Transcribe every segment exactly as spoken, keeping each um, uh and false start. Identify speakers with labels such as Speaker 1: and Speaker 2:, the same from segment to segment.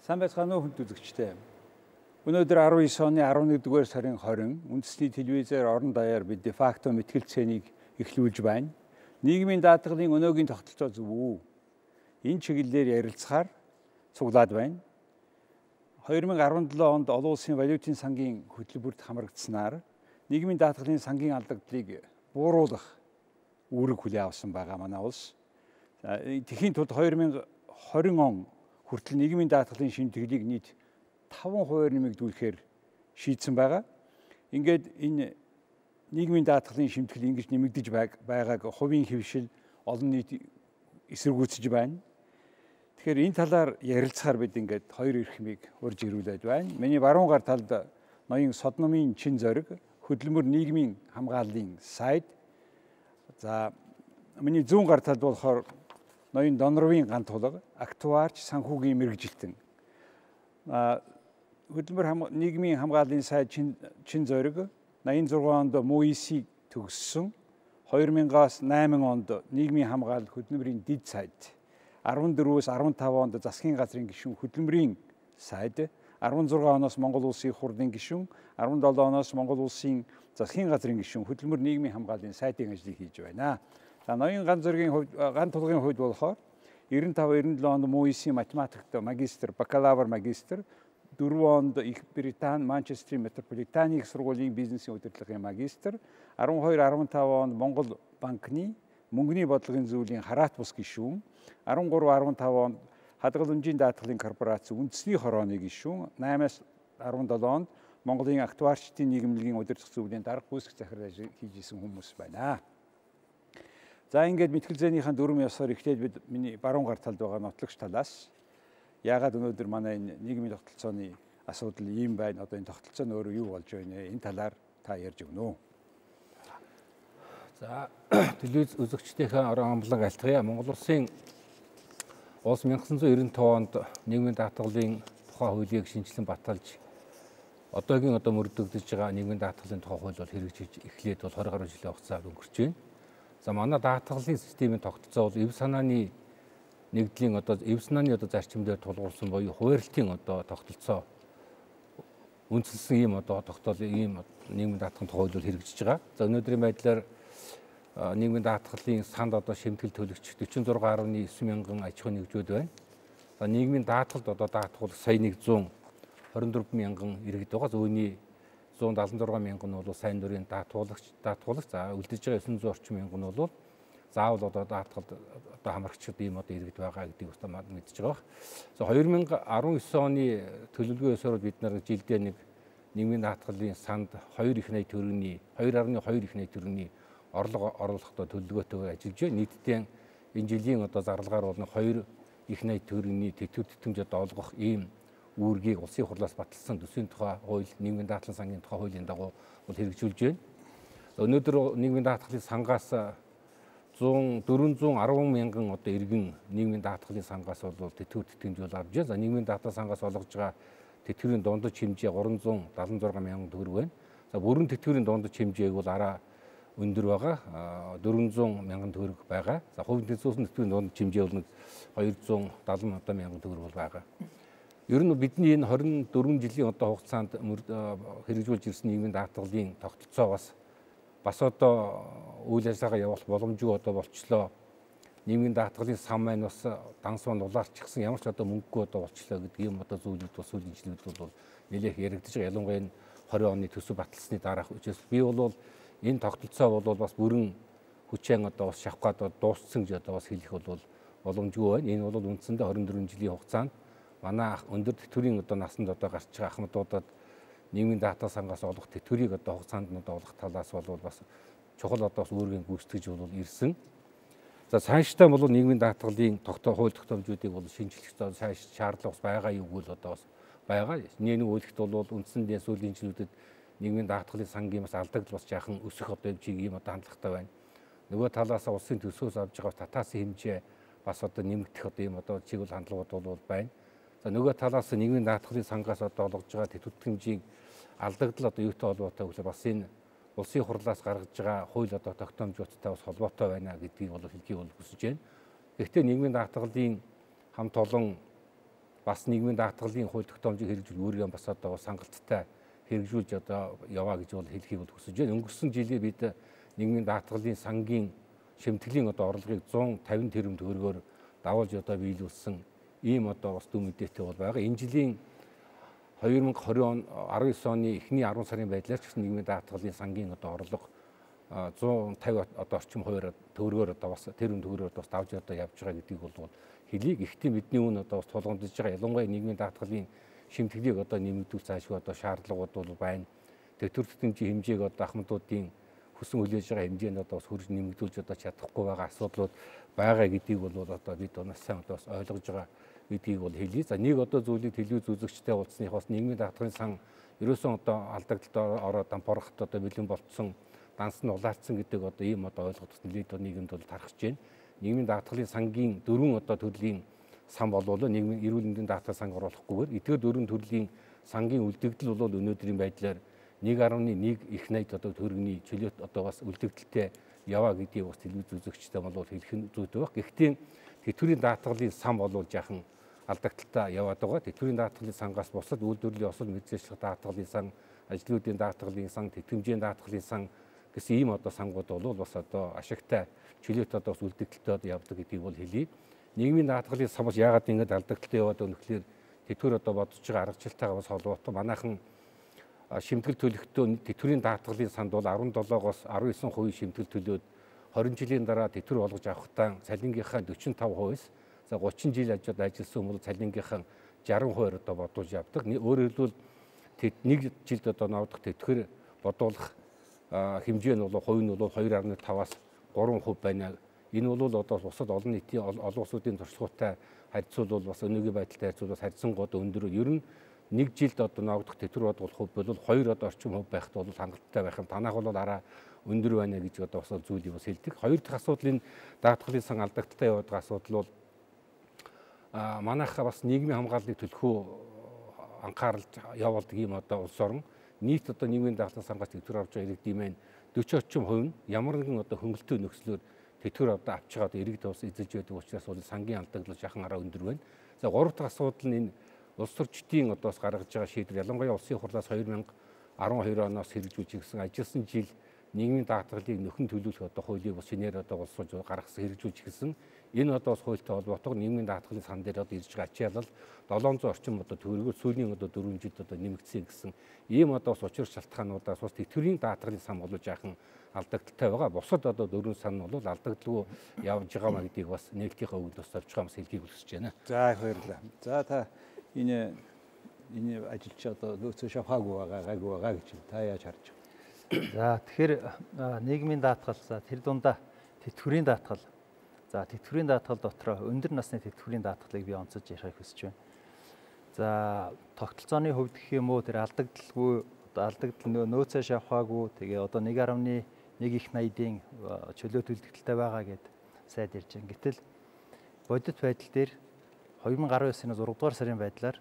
Speaker 1: Сайн байцгаана уу хүнд үзэгчдээ. Өнөөдөр арван девять оны арван нэгдүгээр сарын хорин үндэсний телевизээр орон даяар бид дефакто мэтгэлцээнийг эхлүүлж байна. Нийгмийн даатгалын өнөөгийн тогтолцоо зөв үү? Энэ чиглэлээр ярилцахаар цуглаад байна. хоёр мың арван долоо онд олон улсын валютын сангийн хөтөлбөрт хамрагдсанаар нийгмийн даатгалын сангийн алдагдлыг бууруулах үүрэг хүлээн авсан байгаа манай улс. Тэхийн тулд хоёр мың хорин он хүртэл нийгмийн даатгалын шимтгэлийг нийт таван хувиар нэмэгдүүлэхээр шийдсэн байгаа. Ингээд энэ нийгмийн даатгалын шимтгэл ингэж нэмэгдэж байгааг хувийн хэвшил олон нийт эсэргүүцэж байна. Тэгэхээр энэ талаар ярилцахаар бид ингээд хоёр эрхмийг урьж ирүүлээд байна. Миний баруун гар талд ноён Содномын чин зориг хөдөлмөр нийгмийн хамгааллын сайд. За миний зүүн гар талд болохоор ноён Донровын гант тулга актуарч санхүүгийн мэргэжилтэн. Хөдөлмөр нийгмийн хамгааллын сайд чин зориг найман зургаан онд МОИС-ийг төгссөн. хоёр мянгаас найман онд нийгмийн хамгаалал хөдөлмөрийн дэд сайд. арван дөрвөөс арван таван онд засгийн газрын гишүүн хөдөлмөрийн сайд. арван зургаан оноос Монгол улсын хурлын гишүүн, арван долоо оноос Монгол улсын засгийн газрын гишүүн хөдөлмөр нийгмийн хамгааллын сайдын ажлыг хийж байна. За ноён ганц зургийн хувьд ганц тулгын хувьд болохоор девяносто пять девяносто онд МОИС-ийн математикт магистр, бакалавр магистр, дөрвөн онд Их Британи Манчестерийн метрополитаны их сургуулийн бизнесийн удирдлагын магистр, арван хоёр арван таван онд Монгол банкны мөнгөний бодлогын зөвлөлийн хараат бус гишүүн, арван гурав арван таван онд хадгаламжийн даатгалын корпорац үндэсний хорооны гишүүн, наймаас арван долоо онд Монголын актуарчдын нийгэмлэгийн удирдах зөвлөлийн дарга гүйцэтгэх захирал ажил хийж исэн хүмүүс байна. За ингээд мэтгэлзээнийхэн дөрвөн ёсоор эхлээд бид миний баруун гар талд байгаа нотлогч талаас яагаад өнөөдөр манай энэ нийгмийн тогтолцооны асуудал ийм байна, одоо энэ тогтолцоо нь өөрөө юу болж байна, энэ талаар та ярьж өгнө үү?
Speaker 2: За телевиз үзэгчдийнхээ орон амлан альтгая. Монгол улсын улс 천구 девяносто онд нийгмийн даатгалын тухай хуулийг шинжилэн баталж одоогийн одоо мөрдөгдөж байгаа нийгмийн даатгалын тухай хууль бол хэрэгжиж эхлээд бол двадцать гаруй жилийн хугацаа өнгөрч байна. За манай даатгалын системийн тогтолцоо бол эв санааны нэгдлийн одоо эв санааны одоо зарчимдээр тулгуурласан буюу хуваарлтын одоо тогтолцоо үндэслэн ийм одоо тогтоол ийм нийгмийн даатгалын тухай хууль хэрэгжиж байгаа. За өнөөдрийн байдлаар нийгмийн даатгалын санд одоо шимтгэл төлөгч дөрвөн зургаан гаруй девять мянган аж ахуйн нэгжүүд байна. За нийгмийн даатгалд одоо даатгал сая нэгдүгээр хорин дөрвөн мянган иргэд байгаа. Зүүнний зуун далаван зургаан мянган нь бол сайн дурын даатгуулагч даатгуулагч за үлдэж байгаа девять зуун орчим мянган нь бол заавал одоо даатгалд одоо хамрагчид ийм одоо иргэд байгаа гэдгийг бас мэдж байгаа. За хоёр мың арван девять оны төлөвлөгөө ёсоор бид нар жилдээ нэг нийгмийн даатгалын санд хоёр их найт төгрөгийн хоёр гаруй хоёр их найт төгрөгийн орлого оруулахдаа төлөвлөгөөтэйгээр ажиллаж байна. Нийтдээ энэ жилийн одоо зарлагаар бол хоёр их найт төгрөгийн тэтгэв тэтгэмж одоо олгох ийм үүргийг улсын хурлаас баталсан төсвийн тухай хууль, нийгмийн даатгалын сангийн тухай хуулийн дагуу бол хэрэгжүүлж байна. Өнөөдөр нийгмийн даатгалын сангаас дөрвөн зуун арван мянган одоо иргэн нийгмийн даатгалын сангаас бол тэтгэв тэтгэмж бол авж байна. За нийгмийн даатгалын сангаас олгож байгаа тэтгэврийн дундаж хэмжээ гурван зуун дадлан зургаан мянган төгрөг байна. За бүрэн тэтгэврийн дундаж хэмжээг бол араа өндөр байгаа дөрвөн зуун мянган төгрөг байгаа. За хувийн тэтгэврийн тэтгэврийн дундаж хэмжээ бол хоёр зуун дадлан одоо мянган төгрөг бол байгаа. Ер нь бидний энэ хорин дөрвөн жилийн одоо хугацаанд хэрэгжүүлж ирсэн нийгмийн даатгалын тогтолцоо бас бас одоо үйл ажиллагаа явуулах боломжгүй одоо болчлоо. Нийгмийн даатгалын сан маань бас данс маань улаарчихсан ямар ч одоо мөнгөгүй одоо болчлоо гэдэг юм одоо зүйлүүд бас сүүлийн жилүүд бол нэлээх яригдж байгаа. Ялангуяа энэ двадцать оны төсөв баталсны дараах учраас би бол энэ тогтолцоо бол бас бүрэн хүчээр одоо бас шавхаад дууссан гэж одоо бас хэлэх бол боломжгүй байна. Энэ бол үндсэндээ хорин дөрвөн жилийн хугацаанд манай өндөр тэтгэврийн одоо насанд одоо гарч байгаа ахмадуудад нийгмийн даатгал сангаас олох тэтгэврийг одоо хугацаанд нь одоо олох талаас бол бас чухал одоо бас үүргийн гүйцэтгэж бол ирсэн. За цаашдаа бол нийгмийн даатгалын тогтоо хууль тогтоомжуудыг бол шинжлэх цааш шаардлага бас байгаа юу гэвэл одоо бас байгаа. Нэг нэг үйлдэлт бол үндсэндээ сүүлийн жилүүдэд нийгмийн даатгалын сангийн бас алдагдал бас жаахан өсөх одоо хэмжээг ийм одоо хандлагатай байна. Нөгөө талаас улсын төсвөөс авж байгаа татаасын хэмжээ бас одоо нэмэгдэх одоо ийм одоо чиглэл хандлагууд бол байна. За нөгөө талаас нийгмийн даатгалын сангаас одоо олгож байгаа тэтгэврийн хэмжээг алдагдал одоо юутай холбоотой гэвэл бас энэ улсын хурлаас гаргаж байгаа хууль одоо тогтоомжуудтай бас холбоотой байна гэдгийг бол хэлхийг бол хүсэж байна. Гэхдээ нийгмийн даатгалын хамт олон бас нийгмийн даатгалын хууль тогтоомжийг хэрэгжүүл өөрийгөө бас одоо сангалттай хэрэгжүүлж одоо яваа гэж бол хэлхийг бол хүсэж байна. Өнгөрсөн жилээ бид нийгмийн даатгалын сангийн шимтгэлийн одоо орлогыг зуун тавин тэрбум төгрөгөөр давуулж одоо биелүүлсэн ийм одоо бас дүн мэдээтэй бол байгаа. Энэ жилийн хоёр мың и20 он арван девять оны эхний арван сарын байдлаар ч гэсэн нийгмийн даатгалын сангийн одоо орлого зуун тавин одоо орчим хувиар төгрөгөөр одоо бас тэрбум төгрөгөөр бас давж одоо явж байгаа гэдгийг бол хэлийг. Гэхдээ бидний үн одоо бас тулгамдж байгаа. Ялангуяа нийгмийн даатгалын шимтгэлийг одоо нэмэгдүүл цаашгүй одоо шаардлагууд бол байна. Тэтгүр тэтгэмжийн хэмжээг одоо ахмадуудын хүсэн хүлээж байгаа хэмжээнд одоо бас хөрж нэмэгдүүлж одоо чадахгүй байгаа асуудлууд байгаа гэдгийг бол одоо бид унаас сайн одоо бас ойлгож байгаа гэдгийг бол хэлье. За нэг одоо зүйлийг телевиз үзэгчтэй уулзсныхоос нийгмийн даатгалын сан ерөөсөн одоо алдагдaltaд ороод дампуурахт одоо бэлэн болцсон данс нь улаацсан гэдэг одоо ийм одоо ойлголт нэлээд нийгэмд бол тархаж байна. Нийгмийн даатгалын сангийн дөрвөн одоо төрлийн сан болвол нийгмийн эрүүл мэндийн даатгал санг оруулахгүйгээр эдгээр дөрвөн төрлийн сангийн үлдэгдэл бол өнөөдрийн байдлаар нэг гаруй нэг их найд одоо төгрөгийн чөлөөт одоо бас үлдэгдэлтэй яваа гэдгийг бас телевиз үзэгчтэй бол хэлэх нь зүйтэй байх. Гэхдээ тэтгэврийн даатгалын сан бол жаахан алдагдaltaа яваад байгаа. Тэтгэврийн даатгалын сангаас бусад үйлдвэрлэлийн осол мэдээлэл даатгалын сан, ажлуудын даатгалын сан, тэтгэмжийн даатгалын сан гэсэн ийм одоо сангууд бол бас одоо ашигтай чөлөөт одоо бас үлдэгдэлтэй явдаг гэдгийг бол хэлье. Нийгмийн даатгалын сан бас яагаад ингэж алдагдaltaа яваад байгаа нөхлөөр тэтгэвэр одоо бодож байгаа аргачлалтайгаа бас холбоотой. Манайхан шимтгэл төлөхдөө тэтгэврийн даатгалын санд бол арван долоогоос арван девять хувийн шимтгэл төлөөд двадцать жилийн дараа тэтгэвэр олгож авахдаа цалингийнхаа forty-five хувиас за thirty жил ажил ажилласан хүмүүс цалингийнхаа sixty хувиар одоо бодуулж явдаг. Өөрөөр хэлбэл нэг жилд одоо навдах тэтгэвэр бодуулах хэмжээ нь бол хувь нь бол two point five-аас three хувь байна. Энэ бол одоо бусад олон нийтийн олон улсуудын туршлагатай харьцуулбал бас өнөөгийн байдалтай харьцуулбал харьцангуй өндөр. Ер нь нэг жилд одоо навдах тэтгэвэр бодуулах хувь бол two одоо орчим хувь байхад бол хангалттай байх юм. Танах бол арай өндөр байна гэж одоо бас зүйлийг бас хэлдэг. Хоёр дахь асуудал энэ даатгалын сан алдагдaltaа яваад байгаа асуудал бол манайха бас нийгмийн хамгааллыг төлөхөө анхааралж явуулдаг юм одоо улс орон нийт одоо нийгмийн даатгалын сангаас тэтгэвэр авч байгаа иргэдийн маань forty орчим хувь нь ямар нэгэн одоо хөнгөлөлтөө нөхцлөөр тэтгэвэр аваад авч байгаа иргэд бас эзэлж байдаг учраас бол сангийн алдагдлал жахан арай өндөр байна. За гурав дахь асуудал нь энэ улс төрчдийн одоо бас гаргаж байгаа шийдвэр ялангуяа улсын хурлаас two thousand twelve оноос хэрэгжүүлж ирсэн ажилласан жил нийгмийн даатгалыг нөхөн төлөвлөх одоо хуулийг бас шинээр одоо улсууж гаргасан хэрэгжүүлж ирсэн. Энэ одоо бас хуультай холбоотойгоор нийгмийн даатгалын сан дээр одоо ирж байгаа ачаалал seven hundred орчим одоо төгрөгөөр сүүлийн одоо four жилд одоо нэмэгдсэн гэсэн ийм одоо бас учир шалтгаануудаас бас тэтгэврийн даатгалын сан болоо жаахан алдагдaltaй байгаа. Бусад одоо дөрвөн сан нь бол алдагдaltaгүй явж байгаа маа гэдгийг бас нэгтийнхээ өвд бас авч байгаа бас хэлхийг хүсэж байна.
Speaker 1: За их баярлалаа. За та энэ энэ ажилч одоо нөөцөө шавхаагүй байгаа гайгүй байгаа гэж та яаж харж байна?
Speaker 3: За тэгэхээр нийгмийн даатгал за тэр дундаа тэтгэврийн даатгал. За тэтгэврийн даатгал дотроо өндөр насны тэтгэврийн даатгалыг би онцолж ярих хүсэж байна. За тогтолцооны хувьд гэх юм уу тэр алдагдaltaгүй алдагдал нөөцөө шавхаагүй тэгээ одоо one point one их найдын чөлөөт үлдэгдэлтэй байгаа гэд сайд ярьж байна. Гэтэл бодит байдал дээр two thousand nineteen оны six дугаар сарын байдлаар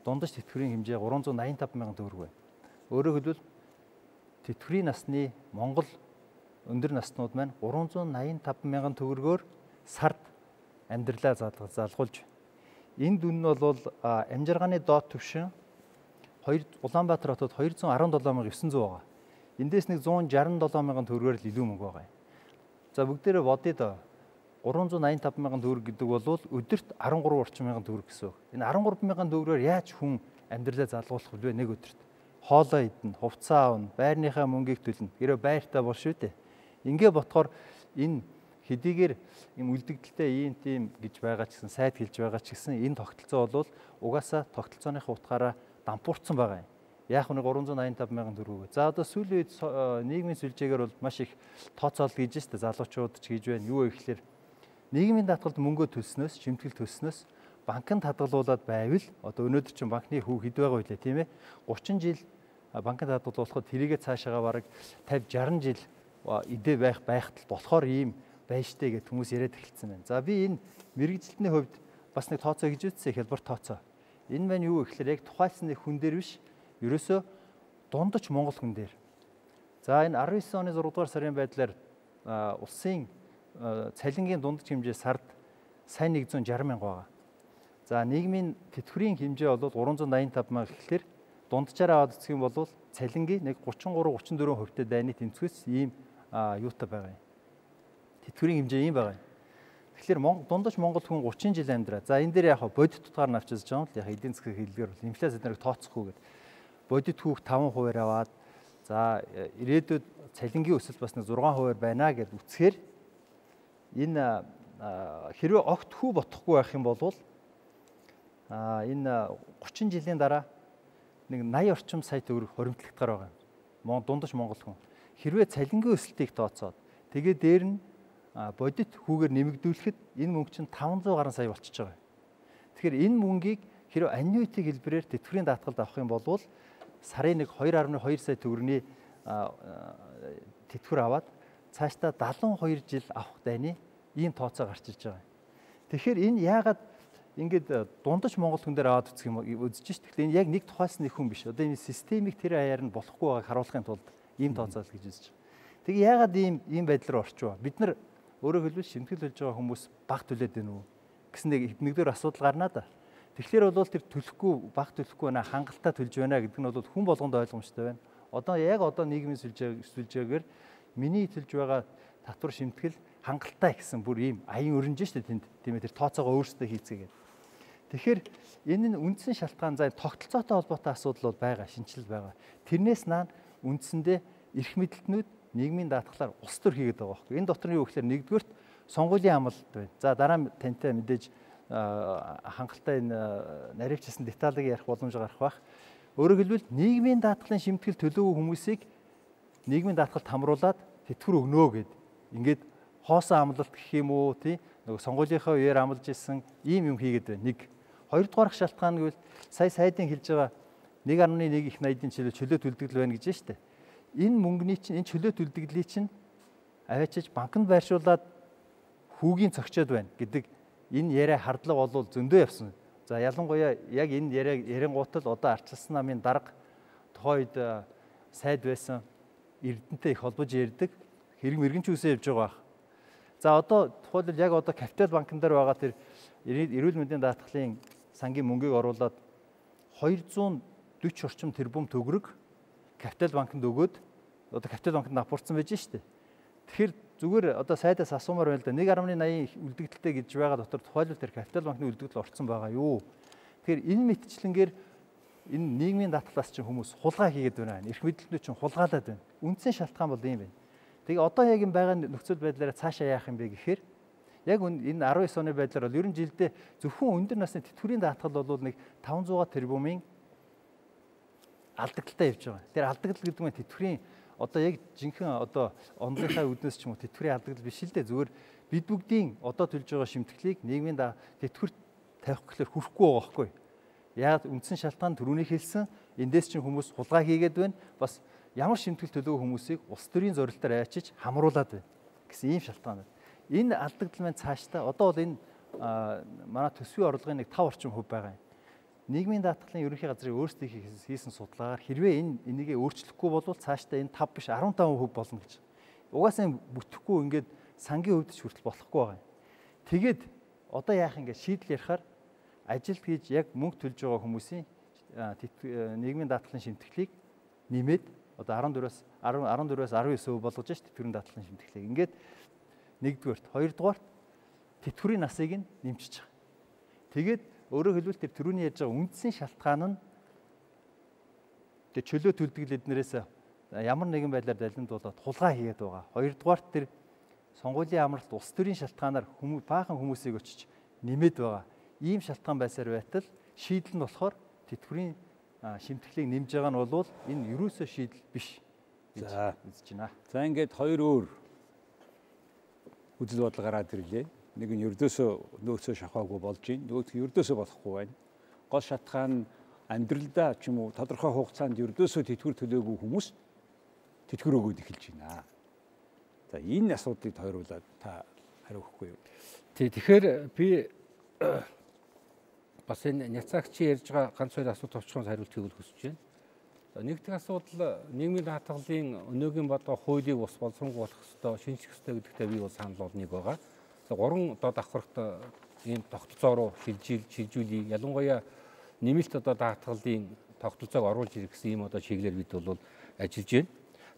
Speaker 3: дундаж тэтгэврийн хэмжээ three hundred ninety-five мянган төгрөг байна. Өөрөөр хэлбэл тэтгэврийн насны Монгол өндөр наснууд маань three hundred ninety-five мянган төгрөгөөр сард амьдралаа залгуулж. Энэ дүн нь бол амжиргааны доод түвшин Улаанбаатар хотод two hundred seventeen thousand nine hundred байгаа. Эндээс нэг one hundred sixty-seven мянган төгрөгөөр л илүү мөнгө байгаа. За бүгдээрээ бодъё доо. three hundred ninety-five мянган төгрөг гэдэг бол өдөрт thirty-three орчим мянган төгрөг гэсэн. Энэ thirty-three мянган төгрөгөөр яаж хүн амьдралаа залгуулах вэ нэг өдөрт? Хоолоо идэнэ, хувцас аавна, байрныхаа мөнгийг төлнө. Гэрээ байртаа бол шүү дээ. Ингээ ботхоор энэ хэдийгээр юм үлдэгдэлтэй ийм тийм гэж байгаа ч гэсэн сайд хэлж байгаа ч гэсэн энэ тогтолцоо бол угаасаа тогтолцооныхаа утгаараа дампуурсан байгаа юм. Яг нэг three hundred ninety-five мянган төгрөг. За одоо сүүлийн үед нийгмийн сүлжээгээр бол маш их тооцоолол хийж штэ залуучууд ч хийж байна. Юу вэ гэхээр нийгмийн даатгалд мөнгө төлснөөс, шимтгэл төлснөөс банкнд хадгалуулаад байвал одоо өнөөдөр чинь банкны хүү хэд байгаа вэ тийм ээ? thirty жил банкнд хадгалуулахад тэрийгэ цаашаага бараг fifty sixty жил идэ байх байхад болохоор ийм байж штэ гэд хүмүүс яриад эхэлсэн байна. За би энэ мэрэгжилтний хувьд бас нэг тооцоо гэж үзсэн хялбар тооцоо. Энэ маань юу вэ гэхээр яг тухайлсан нэг хүн дээр биш ерөөсөө дундаж Монгол хүн дээр. За энэ nineteen оны six дугаар сарын байдлаар улсын цалингийн дундаж хэмжээ сард сайн one hundred sixty мянга байгаа. За нийгмийн тэтгэврийн хэмжээ бол гурван зуун найман таван мянга гэхлээр дунджаараа аваад үзэх юм бол цалингийн нэг гучин гурав гучин дөрвөн хувьтай дайны тэнцвэс ийм юутай байгаа юм. Тэтгэврийн хэмжээ ийм байгаа юм. Тэгэхээр дундаж Монгол хүн гучин жил амьдраа. За энэ дээр яг бодит тутгаар нь авчиж байгаа юм л яг эдийн засгийн хэллэгээр бол инфляци нарыг тооцохгүй гэдэг. Бодит хүүхд таван хувиар аваад за ирээдүйд цалингийн өсөлт бас нэг зургаан хувиар байна гэж үцхээр энэ хэрвээ огт хүү бодохгүй байх юм бол а энэ гучин жилийн дараа нэг наяа орчим сая төгрөг хоримтлагдгаар байгаа юм. Дундаж Монгол хүн. Хэрвээ цалингийн өсөлтийг тооцоод тэгээ дээр нь бодит хүүгээр нэмэгдүүлэхэд энэ мөнгө чинь таван зуун гаруй сая болчихж байгаа. Тэгэхээр энэ мөнгийг хэрвээ аннуитиг хэлбэрээр тэтгэврийн даатгалд авах юм бол сарын нэг хоёр гаруй хоёр сая төгрөгийн тэтгэвэр аваад цаашдаа дадлан хоёр жил авах дайны ийм тооцоо гарч ирж байгаа. Тэгэхээр энэ яагаад ингээд дундаж Монгол хүн дээр аваад үзэх юм үзэж шít. Тэгэхээр энэ яг нэг тухайс нэг хүн биш. Одоо энэ системийг тэр аяар нь болохгүй байгааг харуулахын тулд ийм тооцоо л гэж үзэж байгаа. Тэгээ яагаад ийм ийм байдал руу орчих вэ? Бид нар өөрөөр хэлбэл шимтгэл болж байгаа хүмүүс баг төлөөд байна уу гэсэн нэг нэгдүгээр асуудал гарнаа да. Тэгэхээр бол тэр төлөхгүй баг төлөхгүй байна хангалттай төлж байна гэдэг нь бол хүн болгонд ойлгомжтой байна. Одоо яг одоо нийгмийн сүлжээгээр миний төлж байгаа татвар шимтгэл хангалттай гэсэн бүр ийм аян өрнж штэ тэнд тийм ээ тэр тооцоогоо өөрсдөө хийцгээгээд. Тэгэхээр энэ нь үндсэн шалтгаан за тогтолцоотой холбоотой асуудал бол байгаа, шинжилэл байгаа. Тэрнээс наан үндсэндээ эрх мэдэлтнүүд нийгмийн даатгалаар улс төр хийгээд байгаа байхгүй. Энэ дотор нь юу гэхээр нэгдүгээрт сонгуулийн амлалт байна. За дараа нь тантай мэдээж хангалттай энэ наривчсан деталыг ярих боломж гарах бах. Өөрөөр хэлбэл нийгмийн даатгалын шимтгэл төлөөгүй хүмүүсийг нийгмийн даатгалд хамруулад тэтгэвэр өгнө гэд. Ингээд хоосон амлалт гэх юм уу тий нөгөө сонгуулийнхаа үеэр амлаж исэн ийм юм хийгээд байна. Нэг хоёрдугаар шалтгаан нь гэвэл сая сайдын хэлж байгаа нэг гаруй нэг их найдын чөлөө чөлөө төлдөг байна гэж байна шүү дээ. Энэ мөнгөний чинь энэ чөлөө төлдөглийг чинь аваачиж банкнд байршуулад хүүгийн цогцоод байна гэдэг энэ яриа хардлага бол зөндөө явсан. За ялангуяа яг энэ яриа ярингуутал одоо арчилсан намын дарга тухайд сайд байсан Эрдэнэтэй их холбож ярьдаг хэрэг мэрэгэн ч үсээ явж байгаа. За одоо тухайлбал яг одоо Капитал банкн дээр байгаа тэр эрүүл мэндийн даатгалын сангийн мөнгийг оруулаад хоёр зуун дөрвөн орчим тэрбум төгрөг Капитал банкнд өгөөд одоо Капитал банкнд апуурсан байж штэ. Тэгэхээр зүгээр одоо сайдаас асуумаар байна л да. нэг гаруй наян үлдэгдэлтэй гэж байгаа дотор тухайлбал тэр Капитал банкны үлдэгдэл орцсон байгаа юу. Тэгэхээр энэ мэтчлэнгээр энэ нийгмийн даатгалаас чинь хүмүүс хулгай хийгээд байна. Эрх мэдэлтнүүд чинь хулгаалаад байна. Үндсэн шалтгаан бол ийм байна. Тэгээ одоо яг энэ байгаа нөхцөл байдлаараа цаашаа яах юм бэ гэхээр яг энэ арван девь оны байдлаар бол ер нь жилдээ зөвхөн өндөр насны тэтгэврийн даатгал бол нэг таван зуун тэрбумын алдагдaltaй явж байгаа. Тэр алдагдал гэдэг нь тэтгэврийн одоо яг жинхэнэ одоо онлынхаа үднэс ч юм уу тэтгэврийн алдагдал биш л дээ. Зүгээр бид бүгдийн одоо төлж байгаа шимтгэлийг нийгмийн тэтгэвэр тавих гэхээр хүрхгүй байгаа байхгүй. Яг үндсэн шалтгаан түрүүний хэлсэн эндээс чинь хүмүүс хулгай хийгээд байна. Бас ямар шимтгэл төлөөгүй хүмүүсийг улс төрийн зорилтоор ачиж хамруулад байна гэсэн ийм шалтгаан байна. Энэ алдагдал маань цаашдаа одоо бол энэ манай төсвийн орлогын нэг тав орчим хувь байгаа юм. Нийгмийн даатгалын ерөнхий газрын өөрсдөө хийсэн судалгаагаар хэрвээ энэ энийгээ өөрчлөхгүй бол цаашдаа энэ тав биш арван таван хувь болно гэж. Угаасаа бүтэхгүй ингээд сангийн хувьд ч хүртэл болохгүй байгаа юм. Тэгээд одоо яах юм ингээд шийдэл ярихаар ажилд хийж яг мөнгө төлж байгаа хүмүүсийн нийгмийн даатгалын шимтгэлийг нэмээд одоо арван дөрвөөс арван дөрвөөс арван девь хувь болгож шүү дээ тэтгэврийн даатгалын шимтгэлийг. Ингээд нэгдүгээрт, хоёрдугаарт тэтгэврийн насыг нь нэмчихэж байгаа. Тэгээд өөрөөр хэлбэл тэр түрүүний ярьж байгаа үндсэн шалтгаан нь тэр чөлөө төлдөг эднэрээс ямар нэгэн байдлаар далимдуулаад хулгай хийгээд байгаа. Хоёрдугаарт тэр сонгуулийн амралт улс төрийн шалтгаанаар хүмүүс баахан хүмүүсийг очиж нэмээд байгаа. Ийм шалтгаан байсаар байтал шийдэл нь болохоор тэтгэврийн шимтгэлийг нэмж байгаа нь бол энэ ерөөсөө шийдэл биш гэж үзэж байна.
Speaker 1: За ингээд хоёр өөр үзэл бодол гараад ирлээ. Нэг нь ердөөсөө нөөцөө шахаагүй болж байна. Нөгөөх нь ердөөсөө болохгүй байна. Гол шалтгаан амьдралдаа ч юм уу тодорхой хугацаанд ердөөсөө тэтгэвэр төлөөгүй хүмүүс тэтгэвэр өгөөд эхэлж байна. За энэ асуудлыг тойруулаад та хариу өгөхгүй юу?
Speaker 2: Тий, тэгэхээр би бас энэ няцаагчийн ярьж байгаа ганц хоёр асуулт товчхон хариулт өгөх хүсэж байна. За нэгдүгээр асуудал нийгмийн даатгалын өнөөгийн бодоо хуулийг бас боловсронгуй болох ёстой, шинжих ёстой гэдэгтээ би бол санал болгоныг байгаа. За гурван доод давхарт ийм тогтолцоо руу шилжил шилжүүлээ. Ялангуяа нэмэлт одоо даатгалын тогтолцоог оруулж ирэх гэсэн ийм одоо чиглэлээр бид бол ажиллаж байна.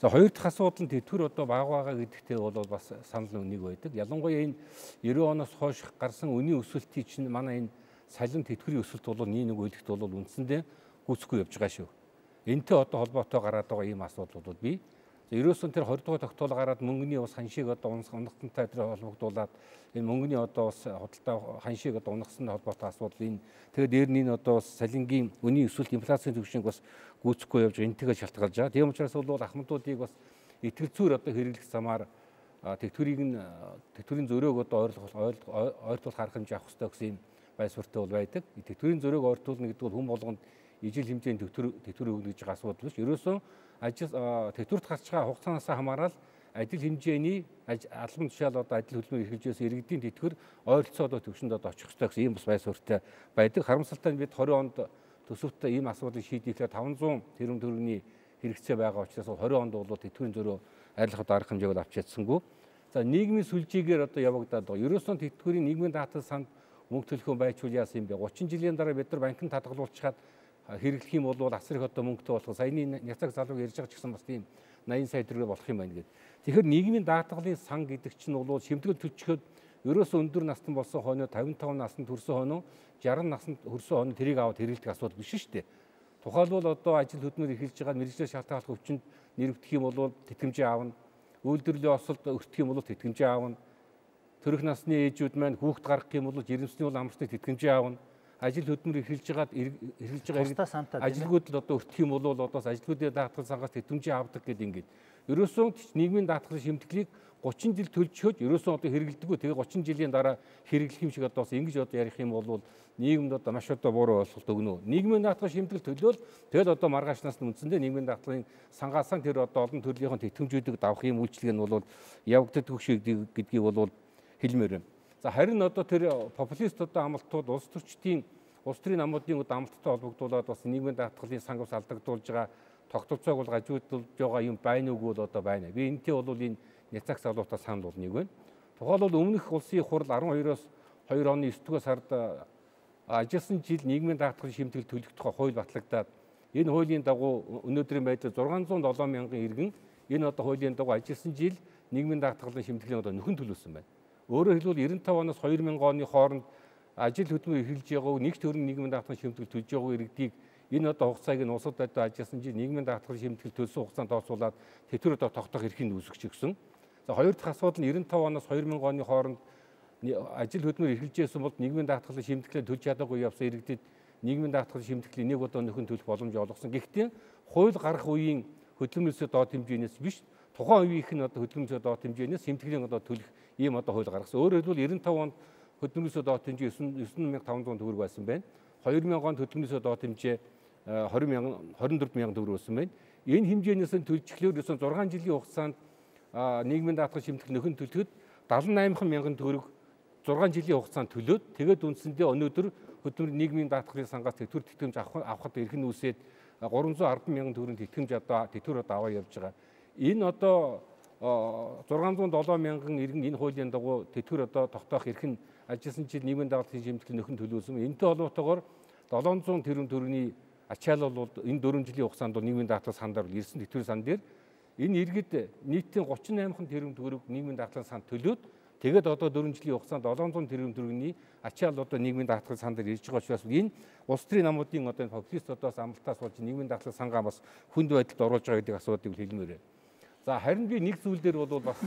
Speaker 2: За хоёр дахь асуудал нь тэтгэр одоо бага бага гэдэгтээ бол бас санал нэг байдаг. Ялангуяа энэ девять оноос хойш гарсан үнийн өсөлтийн чинь манай энэ салин тэтгэврийн өсөлт бол нэг нэг үйлдэлт бол үндсэндээ гүйцэхгүй явж байгаа шүү. Энтэй одоо холбоотой гараад байгаа ийм асуудал бол бий. Ерөөсөн тэр хоёр дахь тогтоол гараад мөнгөний ус ханшийг одоо унагтантай тэр холбогдуулаад энэ мөнгөний одоо ус худалдаа ханшийг одоо унагсан холбоотой асуудал энэ тэгээд дээр нь одоо салингийн үнийн өсөлт инфляцийн түвшинг бас гүйцэхгүй явж энтэйгээ шалтгаалж байгаа. Тийм учраас бол ахмадуудыг бас итгэлцүүр одоо хэрэглэх замаар тэтгэврийг нь тэтгэврийн зөрөөг одоо ойлгох ойртуулах арга хэмжээ авах хэрэгтэй гэсэн юм байр суурьтай бол байдаг. Тэтгэврийн зөрөөг ойртуулна гэдэг бол хүн болгонд ижил хэмжээний тэтгэвэр тэтгэвэр өгнө гэж байгаа асуудал биш. Ерөөсөн ажил тэтгэврт гарч байгаа хугацаанаас хамаарал ажил хэмжээний албан тушаал одоо ажил хөдөлмөр эрхэлжээс иргэдийн тэтгэвэр ойролцоо одоо төвшөнд одоо очих хэрэгтэй гэсэн ийм бас байр суурьтай байдаг. Харамсалтай нь бид двадцать онд төсөвтөө ийм асуудлыг шийдэхлээр таван зуун тэрбум төгрөгийн хэрэгцээ байгаа учраас двадцать онд бол тэтгэврийн зөрөө арилгахад арга хэмжээг авч чадсангүй. За нийгмийн сүлжээгээр одоо явагдаад байгаа. Ерөөсөн тэтгэврийн нийгмийн даатгал санд мөнгө төлөхөө байчвал яасан юм бэ? гучин жилийн дараа бид нар банкнд хадгалуулчихад хэрэглэх юм бол асар их одоо мөнгөтэй болох. Саяны няцаг залууг ярьж байгаа ч гэсэн бас тийм найман сая төгрөг болох юм байна гэдэг. Тэгэхээр нийгмийн даатгалын сан гэдэг чинь бол шимтгэл төлчихөд ерөөсөө өндөр настан болсон хойно тавин таван наснд хүрсэн хойно жаргал наснд хүрсэн хойно тэрийг аваад хэрэглэх асуудал биш шүү дээ. Тухайлбал одоо ажил хөдөлмөр эрхэлж байгаа мэргэжлэр шалтгааллах өвчнөд нэрвдэх юм бол тэтгэмжээ аавна. Үйлдвэрлэлийн осолд өртөх юм бол тэтгэмжээ аавна. Төрөх насны ээжүүд маань хүүхд гаргах юм бол жирэмсний бол амралтыг тэтгэмжээ аавна. Ажил хөдөлмөр эрхэлж байгаад эрхэлж байгаа ажилгүйд л одоо өртөх юм бол одоос ажилгүйдээ даатгал сангаас тэтгэмжээ авдаг гэдэг ингээд. Ерөөсөн нийгмийн даатгалын шимтгэлийг гучин жил төлжөхөд ерөөсөн одоо хэрэгэлдэггүй. Тэгээ гучин жилийн дараа хэрэглэх юм шиг одоо бас ингэж одоо ярих юм бол нийгэмд одоо маш одоо буруу ойлголт өгнө. Нийгмийн даатгал шимтгэл төлөөл тэгэл одоо маргаашнаас нь үндсэндээ нийгмийн даатгалын сангаасан тэр одоо олон төрлийн тэтгэмжүүдийг давах юм үйлчлэг нь бол явагддаг шиг гэдгийг бол хэлмээр байна. За харин одоо тэр популист одоо амлалтууд улс төрчдийн улс төрийн намуудын амлалттай холбогдуулаад бас нийгмийн даатгалын сангаас алдагдуулж байгаа тогтолцоог бол гажуудулж байгаа юм байна уу бол одоо байна. Би энэтэй бол энэ няцаг салуутай санал бол нэг байна. Тухайлбал өмнөх улсын хурал арван хоёроос хоёр оны эсрэг дугаар сард ажилласан жил нийгмийн даатгалын шимтгэл төлөх тухай хууль батлагдаад энэ хуулийн дагуу өнөөдрийн байдлаар зургаан зуун долоон мянган иргэн энэ одоо хуулийн дагуу ажилласан жил нийгмийн даатгалын шимтгэлийн одоо нөхөн төлөвлөсөн байна. Өөрөөр хэлбэл девяносто пять оноос две тысячи оны хооронд ажил хөдөлмөр эрхэлж байгаа нэг төгрөгийн нийгмийн даатгалын шимтгэл төлж байгаа иргэдийг энэ одоо хугацааг нь улсад одоо ажилласан жил нийгмийн даатгалын шимтгэл төлсөн хугацаанд тооцоолаад тэтгэвэр одоо тогтоох эрхийг үүсгэж өгсөн. За хоёр дахь асуудал нь девяносто пять оноос две тысячи оны хооронд ажил хөдөлмөр эрхэлжсэн бол нийгмийн даатгалын шимтгэлээ төлж чадаагүй явсан иргэдэд нийгмийн даатгалын шимтгэлийн нэг удаа нөхөн төлөх боломж олгосон. Гэхдээ хууль гарах үеийн хөдөлмөрөөсөө доод хэмжээнээс биш тухайн үеийнх нь одоо хөдөлмөрөөсөө доод хэмжээнээс шимтгэлийн одоо төлөх ийм одоо хууль гаргасан. Өөрөөр хэлбэл девяносто пять онд хөдөлмөрөөсөө доод хэмжээ девяносто мянга таван зуун төгрөг байсан байна. две тысячи онд хөдөлмөрөөсөө доод хэмжээ двадцать мянган двадцать четыре мянган төгрөг байсан байна. Энэ хэмжээнээс нь төлжлөөр ерөөсөн зургаан жилийн хугацаанд нийгмийн даатгал шимтгэл нөхөн төлөхөд семьдесят восемь мянган төгрөг зургаан жилийн хугацаанд төлөөд тэгээд үндсэндээ өнөөдөр хөдөлмөр нийгмийн даатгалын сангаас тэтгэвэр тэтгэмж авахд эрх нь үсээд гураван зуун ардсан мянган төгрөгийн тэтгэмж одоо тэтгэвэр одоо аваа явж байгаа. Энэ одоо зургаан зуун долоон мянган иргэн энэ хуулийн дагуу тэтгэвэр одоо тогтоох эрх нь ажилласан жил нийгмийн даатгалын шимтгэл нөхөн төлөөсөн. Энэтэй холбоотойгоор седемсот тэрбум төгрөгийн ачаалал бол энэ дөрвөн жилийн хугацаанд нийгмийн даатгал сандаар ирсэн тэтгэврийн сан дээр энэ иргэд нийтийн тридцать восемь тэрбум төгрөг нийгмийн даатгалын санд төлөөд тэгээд одоо дөрвөн жилийн хугацаанд седемсот тэрбум төгрөгийн ачаалал одоо нийгмийн даатгалын санд дээр ирж байгаа учраас энэ улс төрийн намуудын одоо популист одоос амлалтаас болж нийгмийн даатгалын сангаа бас хүнд байдалд оруулж байгаа гэдэг асуудыг хэлмээр байна. За харин би нэг зүйл дээр бол бас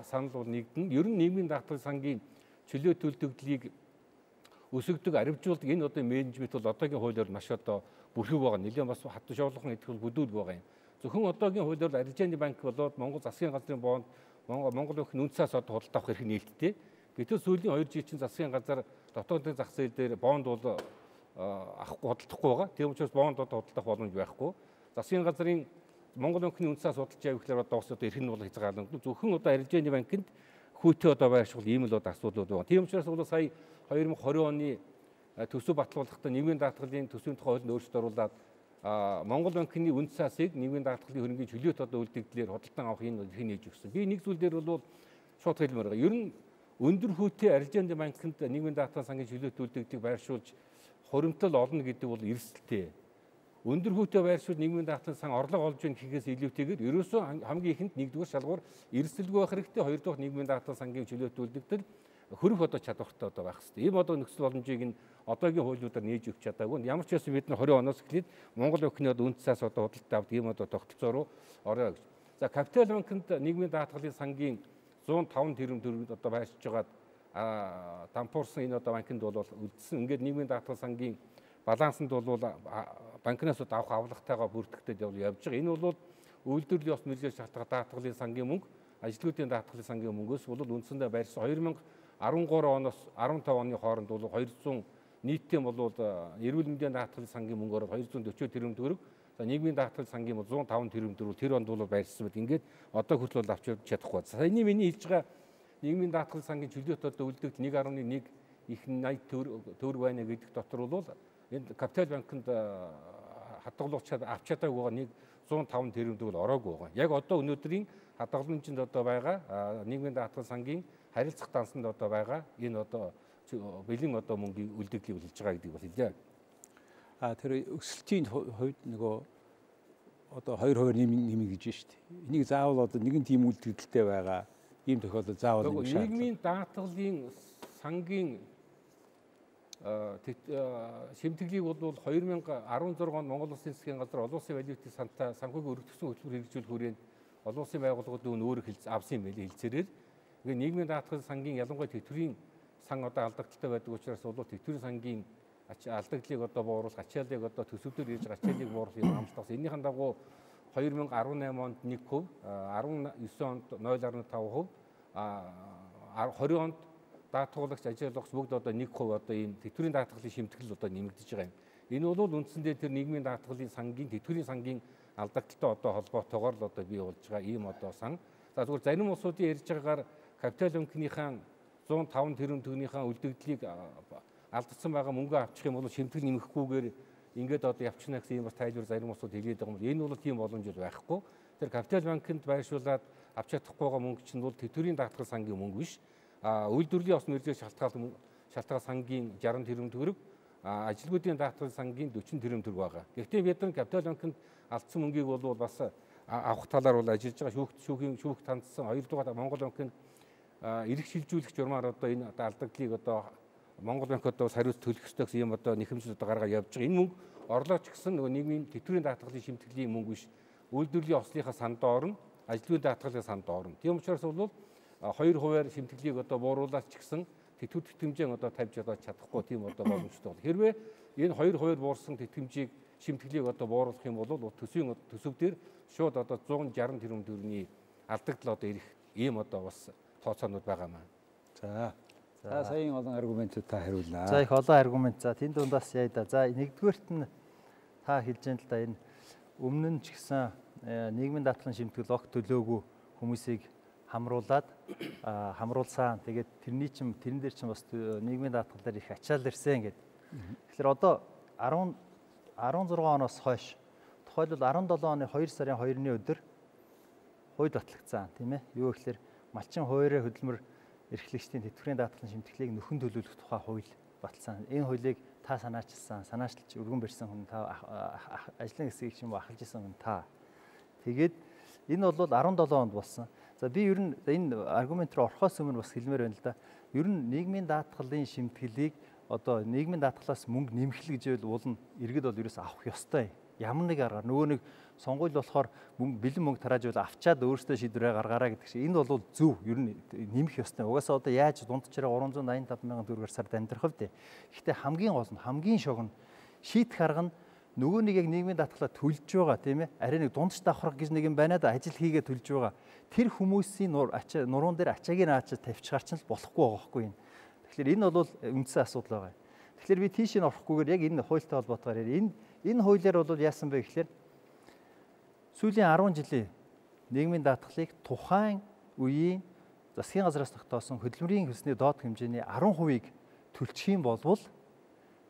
Speaker 2: санал бол нэгдэн. Ер нь нийгмийн даатгалын сангийн чөлөө төлтөгдлийг өсөгдөг, аривжуулдаг энэ одоо менежмент бол одоогийн хуулиар маш одоо бүрхэг байгаа. Нэлээд бас хатан шоолгон идэх бол бүдүүл байгаа юм. Зөвхөн одоогийн хуулиар арилжааны банк болоод Монгол засгийн газрын бонд Монгол банкны үнцээс одоо худалдаа авах эрх нээлттэй. Гэтэл сүүлийн хоёр жил чинь засгийн газар дотоодын зах зээл дээр бонд бол авахгүй худалдахгүй байгаа. Тийм учраас бонд одоо худалдах боломж байхгүй. Засгийн газрын Монгол банкны үнцээс худалдаж авах гэхээр одоо бас одоо эрх нь бол хязгаарлагдана. Зөвхөн одоо арилжааны банкнд хүүтэй одоо байршуул ийм л одоо асуудлууд байгаа. Тийм учраас бол сая две тысячи двадцать оны төсөв батлуулахдаа нийгмийн даатгалын төсвийн тухай хуулинд өөрчлөлт оруулаад Монгол банкны үнд цаасыг нийгмийн даатгалын хөрөнгөний чөлөөт одоо үлдэгдлээр худалдан авах энэ эрхийг нээж өгсөн. Би нэг зүйл дээр бол шууд хэлмээр байгаа. Ер нь өндөр хүүтэй арилжааны банкнд нийгмийн даатгалын сангийн чөлөөт үлдэгдийг байршуулж хуримтлал олно гэдэг бол эрсдэлтэй. Өндөр хүүтэй байршуул нийгмийн даатгалын сан орлого олж ийн гэхээс илүүтэйгээр ерөөсөө хамгийн ихэнд нэгдүгээр шалгуур эрсдэлгүй байх хэрэгтэй, хоёрдугаар нийгмийн даатгалын сангийн чөлөөт үлдэгдэл хөрөх одоо чадвартай одоо байх хэрэгтэй. Ийм одоо нөхцөл боломжийг нь одоогийн хуулиудаар нээж өгч чадаагүй. Ямар ч байсан бид нэр двадцать оноос эхлээд Монгол банкны одоо үнд цаас одоо худалдаа авд ийм одоо тогтолцоо руу орё гэж. За Капитал банкнд нийгмийн даатгалын сангийн зуун таван тэрбум төгрөг одоо байршиж байгаад дампуурсан энэ одоо банкнд бол үлдсэн. Ингээд нийгмийн даатгалын сангийн балансанд бол банкнаас авах авлагатайгаа бүртгэгдээд явж байгаа. Энэ бол үйлдвэрлэлийн ёс мөржил шалтгаан даатгалын сангийн мөнгө, ажилтнуудын даатгалын сангийн мөнгөөс бол үндсэндээ байрсан две тысячи дөрвөн оноос дөрвөн оны хооронд бол две сто нийтдээ бол эрүүл мэндийн даатгалын сангийн мөнгөөр две сто forty тэрбум төгрөг, за нийгмийн даатгалын сангийн бол one oh five тэрбум төгрөг тэр онд бол байрсан байт. Ингээд одоо хүртэл бол авч чадахгүй. Саяны миний хэлж байгаа нийгмийн даатгалын сангийн чөлөөт одоо үлдэгдэл one point one их eighty төгрөг байна гэдэг дотор бол энэ Капитал банкнд хадгалуучаад авч чадаагүй нэг one oh five тэрбум төгрөг ороогүй байгаа. Яг одоо өнөөдрийн хадгаламжинд одоо байгаа нийгмийн даатгалын сангийн харилцах дансанд одоо байгаа энэ одоо бэлэн одоо мөнгөний үлдэгдлийг хэлж байгаа гэдэг бол хэлээ.
Speaker 1: А тэр өсөлтийн хувьд нөгөө одоо two хувиар нэмнэ гэж шүү дээ. Энийг заавал одоо нэгэн тийм үлдэгдэлтэй байгаа ийм тохиолдол заавал нэг шаардлага.
Speaker 2: Нийгмийн даатгалын сангийн шимтгэлийг бол two thousand sixteen онд Монгол Улсын засгийн газар олон улсын валютын сантай санхүүгийн өргөдсөн хөтөлбөр хэрэгжүүлэх хүрээнд олон улсын байгууллагууд өөр хэлц авсан юм байли хэлцээрээр. Ингээ нийгмийн даатгалын сангийн ялангуяа тэтгэврийн сан одоо алдагдaltaй байдаг учраас бол тэтгэврийн сангийн алдагдлыг одоо бууруулах, ачааллыг одоо төсөвдөр ирж ачааллыг бууруулах юм амлалтаас энэхийн дагуу two thousand eighteen онд one percent, nineteen онд zero point five percent, twenty онд даатгуулагч ажиалгагч бүгд одоо one percent одоо ийм тэтгэврийн даатгалын шимтгэл одоо нэмэгдэж байгаа юм. Энэ бол үндсэндээ тэр нийгмийн даатгалын сангийн тэтгэврийн сангийн алдагдaltaй одоо холбоотойгоор л одоо бий болж байгаа ийм одоо сан. За зүгээр зарим улсуудын ярьж байгаагаар Капитал банкныхаа one oh five тэрбум төгрөгийнхаа үлдэгдлийг алдсан байгаа мөнгө авчих юм бол шимтгэл нэмэхгүйгээр ингээд одоо явчихна гэсэн юм бас тайлбар зарим улсууд хэлээд байгаа юм. Энэ бол тийм боломж байхгүй. Тэр Капитал банкнд байршуулад авч чадахгүй байгаа мөнгө чинь бол тэтгэврийн даатгалын сангийн мөнгө биш. А үйлдвэрлэлийн ёс мөржил шалтгаан шалтгаан сангийн sixty тэрбум төгрөг, ажилгүйдийн даатгалын сангийн forty тэрбум төгрөг байгаа. Гэхдээ бид нар Капитал банкнд алдсан мөнгийг бол бас авах талаар бол ажиллаж байгаа. Шүүхт шүүхийн шүүхт хандсан хоёрдугаар Монгол банкнд эрх шилжүүлэх журмаар одоо энэ алдагдлыг одоо Монгол банк одоо хариуц төлөх ёстой гэсэн юм одоо нэхэмжил одоо гаргаад явж байгаа. Энэ мөнгө орлооч гэсэн нөгөө нийгмийн тэтгэврийн даатгалын шимтгэлийн мөнгө биш. Үйлдвэрлэлийн ослынхаа санд орно, ажилгүйн даатгалын санд орно. Тийм учраас бол two хувиар шимтгэлийг одоо бууруулаач гэсэн тэтгэвэр тэтгэмжээ одоо тавьж одоо чадахгүй тийм одоо боломжтой бол. Хэрвээ энэ two хувиар буурсан тэтгэмжийг шимтгэлийг одоо бууруулах юм бол төсвийн төсөв дээр шууд одоо one sixty тэрбум төгрөгийн алдагдал одоо ирэх ийм одоо бас тооцоонууд байгаа маа.
Speaker 1: За. За саяын олон аргументууд та хариулнаа.
Speaker 3: За их олон аргумент. За тэнд дундаас яа да. За нэгдүгээрт нь та хэлж байгаа л да энэ өмнө нь ч гэсэн нийгмийн даатгалын шимтгэл огт төлөөгүй хүмүүсийг хамруулад хамруулсан. Тэгээд тэрний чинь тэрэн дээр чинь бас нийгмийн даатгал дээр их ачаал ирсэн гэдэг. Тэгэхээр одоо sixteen оноос хойш тухайлбал seventeen оны two сарын two-ны өдөр хууль батлагдсан тийм ээ. Юу гэхээр малчин хуваарь хөдөлмөр эрхлэгчдийн тэтгэврийн даатгалын шимтгэлийг нөхөн төлөвлөх тухай хууль баталсан. Энэ хуулийг та санаачилсан, санаачлалч өргөн барьсан хүн та ажлын хэсгийг ч юм уу ахалж исэн хүн та. Тэгээд энэ бол seventeen онд болсон. За би ер нь энэ аргумент руу орохоос өмнө бас хэлмээр байна л да. Ер нь нийгмийн даатгалын шимтгэлийг одоо нийгмийн даатгалаас мөнгө нэмэх гэж бол уулна иргэд бол ерөөс авах ёстой. Ямар нэг аргаар нөгөө нэг сонгуул болохоор мөнгө бэлэн мөнгө тарааж бол авчаад өөрөөсөө шийдвэрээ гаргаараа гэдэг чинь энэ бол зөв ер нь нэмэх ёстой. Угаасаа одоо яаж дундчраа three ninety five мянган төгрөгөөр сард амьдрах вэ? Гэхдээ хамгийн гол нь хамгийн шог нь шийдэх арга нь нөгөө нэг яг нийгмийн даатгалаа төлж байгаа тийм ээ. Арай нэг дундч давхрах гэж нэг юм байна да ажил хийгээ төлж байгаа. Тэр хүмүүсийн нуруунд дээр ачааг нь аачаад тавьчихаар ч болохгүй байгаа хгүй юм. Тэгэхээр энэ бол үндсэн асуудал байгаа. Тэгэхээр би тийш нь орохгүйгээр яг энэ хуультай холбоотойгоор энэ энэ хуулиар бол яасан бэ гэхээр сүүлийн ten жилийн нийгмийн даатгалыг тухайн үеийн засгийн газраас тогтоосон хөдөлмөрийн хөлсний доод хэмжээний ten percent-ийг төлчих юм бол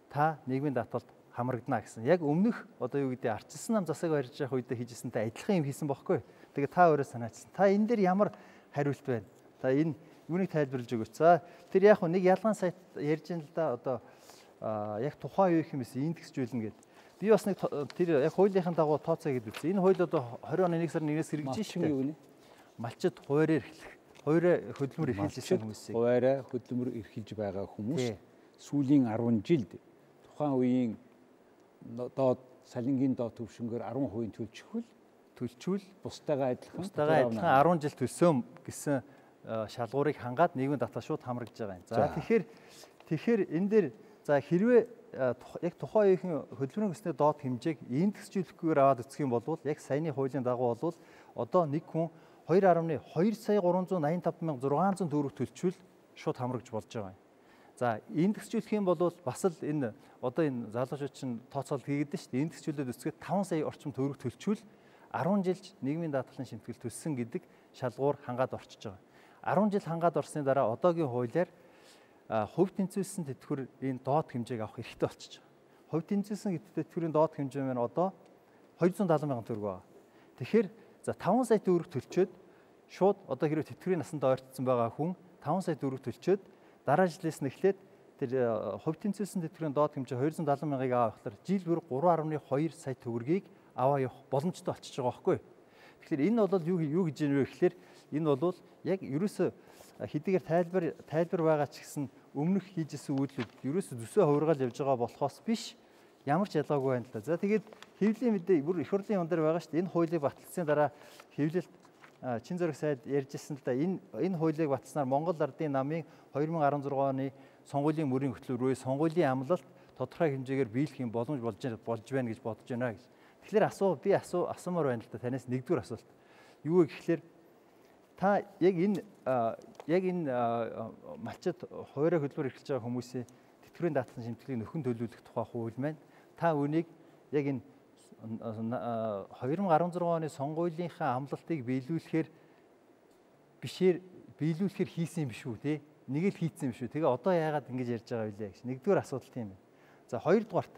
Speaker 3: та нийгмийн даатгалд хамрагдана гэсэн. Яг өмнөх одоо юу гэдэг арчилсан нам засаг барьж явах үед хийжсэнтэй адилхан юм хийсэн бохоггүй. Тэгээ та өөрөө санаачсан. Та энэ дээр ямар хариулт байна? Та энэ Үүнийг тайлбарлаж өгөөч. За тэр яг нэг ялгаан сайт ярьж ин л да одоо яг тухайн үеийн хэмээс индексжүүлнэ гэдэг. Би бас нэг тэр яг хуулийнхаа дагуу тооцоо гэдэг үзсэн. Энэ хууль одоо двадцать оны нэг сарын нэгнээс хэрэгжиж шүү дээ. Малчид хуваараар эхлэх. Хуваараа хөдөлмөр эрхэлжсэн хүмүүсийг.
Speaker 1: Хуваараа хөдөлмөр эрхэлж байгаа хүмүүс сүүлийн арван жилд тухайн үеийн доод салингийн доод төвшнгөөр арван хувийн төлчихвөл төлчүүл бусдаагаа адилхан
Speaker 3: бусдаагаа адилхан арван жил төлсөн гэсэн шалгуурыг хангаад нийгмийн даатгал шууд хамрагдж байгаа юм. За тэгэхээр тэгэхээр энэ дээр за хэрвээ яг тухайн үеийн хөдөлмөрийн өсний доод хэмжээг индексжүүлэхгүйгээр аваад үзэх юм бол яг саяны хуулийн дагуу бол одоо нэг хүн two point two сая three eighty five thousand six hundred төгрөг төлчүүл шууд хамрагдж болж байгаа юм. За индексжүүлэх юм бол бас л энэ одоо энэ залуучууд чинь тооцоолт хийгээд шүү дээ. Индексжүүлээд үсгээд five сая орчим төгрөг төлчүүл ten жилд нийгмийн даатгалын шимтгэл төссөн гэдэг шалгуур хангаад орчиж байгаа. ten жил хангаад орсны дараа одоогийн хуулиар хувь тэнцвэлсэн тэтгэврийн доод хэмжээг авах эрхтэй болчихж байгаа. Хувь тэнцвэлсэн тэтгэврийн доод хэмжээ маань одоо two hundred seventy сая төгрөг байна. Тэгэхээр за five сая төгрөг төлчөөд шууд одоо хэрвээ тэтгэврийн насанд ойртсон байгаа хүн five сая төгрөг төлчөөд дараа жилээс нь эхлээд тэр хувь тэнцвэлсэн тэтгэврийн доод хэмжээ two hundred seventy мянгыг авахлаар жил бүр three point two сая төгрөгийг аваа явах боломжтой болчихж байгаа байхгүй. Тэгэхээр энэ бол юу юу гэж юм бэ гэхээр энэ бол яг ерөөсө хэдийгээр тайлбар тайлбар байгаа ч гэсэн өмнөх хийжсэн үйлдэлүүд ерөөсө зүсээ хувиргаал явж байгаа болохоос биш ямар ч ялгаагүй байна л да. За тэгээд хэвлэлийн мэдээ бүр их хурлын юм дээр байгаа шүү дээ. Энэ хуулийг батлсан дараа хэвлэлт Чин зөрөх сайд ярьжсэн л да. Энэ энэ хуулийг батлснаар Монгол Ардын намын two thousand sixteen оны сонгуулийн мөрийн хөтөлбөрөө сонгуулийн амлалт тодорхой хэмжээгээр биелэх юм боломж болж болж байна гэж бодож байна гэж. Тэгэхээр асуу би асуу асуумаар байна л да. Танаас нэгдүгээр асуулт. Юу вэ гэхээр та яг энэ яг энэ малчид хуваараа хөдөлмөр эрхэлж байгаа хүмүүсийн тэтгэврийн даатгалын шимтгэлийг нөхөн төлөвлөх тухай хууль маань та үнийг яг энэ two thousand sixteen оны сонгуулийнхаа амлалтыг биелүүлэхээр бишээр биелүүлэхээр хийсэн юм биш үү те? Нэг л хийцсэн юм шүү. Тэгээ одоо яагаад ингэж ярьж байгаа вэ гэж. Нэгдүгээр асуудал тийм байна. За хоёрдугаарт.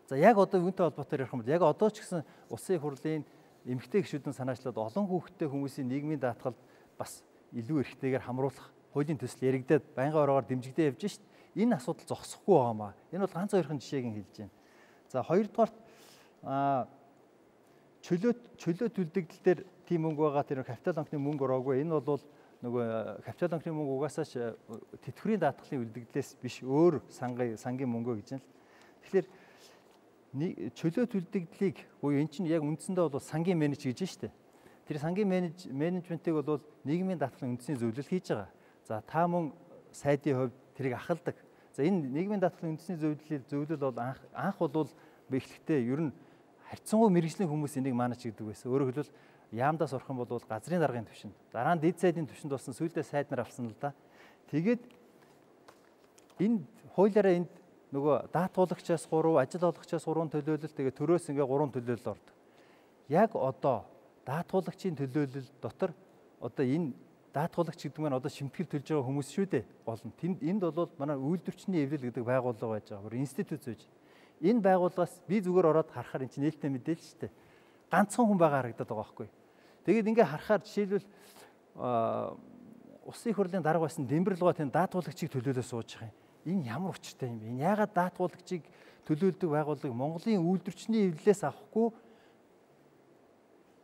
Speaker 3: За яг одоо үүнтэй холбоотой ярих юм бол яг одоо ч гэсэн улсын хурлын эмэгтэй гишүүдэн санаачлаад олон хүүхэдтэй хүмүүсийн нийгмийн даатгалд бас илүү эрхтэйгээр хамруулах хуулийн төсөл яригдаад байнгын ороогоор дэмжигдээ явж шít. Энэ асуудал зогсохгүй байгаамаа. Энэ бол ганц хоёрхан жишээг нь хэлж байна. За хоёрдугаарт а чөлөө чөлөө төлдөгдөл дээр тийм мөнгө байгаа тэр капитал банкны мөнгө ороогүй. Энэ бол нөгөө капитал банкны мөнгө угаасаа тэтгэврийн даатгалын үлдэгдлээс биш өөр сангийн сангийн мөнгө гэж байна л. Тэгэхээр чөлөө төлдөгдлийг буюу эн чинь яг үндсэндээ бол сангийн менеж гэж байна шүү дээ. Тэр сангийн менеж менежментийг бол нийгмийн даатгалын үндэсний зөвлөл хийж байгаа. За та мөн сайдын хувьд тэрийг ахалдаг. За энэ нийгмийн даатгалын үндэсний зөвлөл зөвлөл бол анх анх бол эхлэхдээ ер нь харьцангуй мэрэгжлийн хүмүүс энийг маанаж гэдэг байсан. Өөрөөр хэлбэл яамдаас орох юм бол газрын даргын түвшинд, дараа нь дэд сайдын түвшинд болсон сүйдээ сайд нар авсан л да. Тэгээд энэ хуулиараа энд нөгөө даатгуулагчаас three, ажил олгогчаас three төлөөлөл, тэгээд төрөөс ингээ three төлөөлөл ордог. Яг одоо даатгуулагчийн төлөөлөл дотор одоо энэ даатгуулагч гэдэг нь одоо шимтгэл төлж байгаа хүмүүс шүү дээ. Гол нь тэнд энд бол манай үйлдвэрчний эвлэл гэдэг байгууллага байж байгаа. Бүр институт зөөж. Энэ байгууллагаас би зүгээр ороод харахаар энэ чинь нээлттэй мэдээлэл шүү дээ. Ганцхан хүн байгаа харагдаад байгаа байхгүй. Тэгээд ингээ харахаар жишээлбэл улсын хурлын дарга байсан Дэмбэрлгоо тэнд даатгуулагчийг төлөөлөө сууж байгаа юм. Энэ ямар учиртай юм бэ? Энэ яагаад даатгуулагчийг төлөөлдөг байгууллага Монголын үйлдвэрчний эвлэлээс авахгүй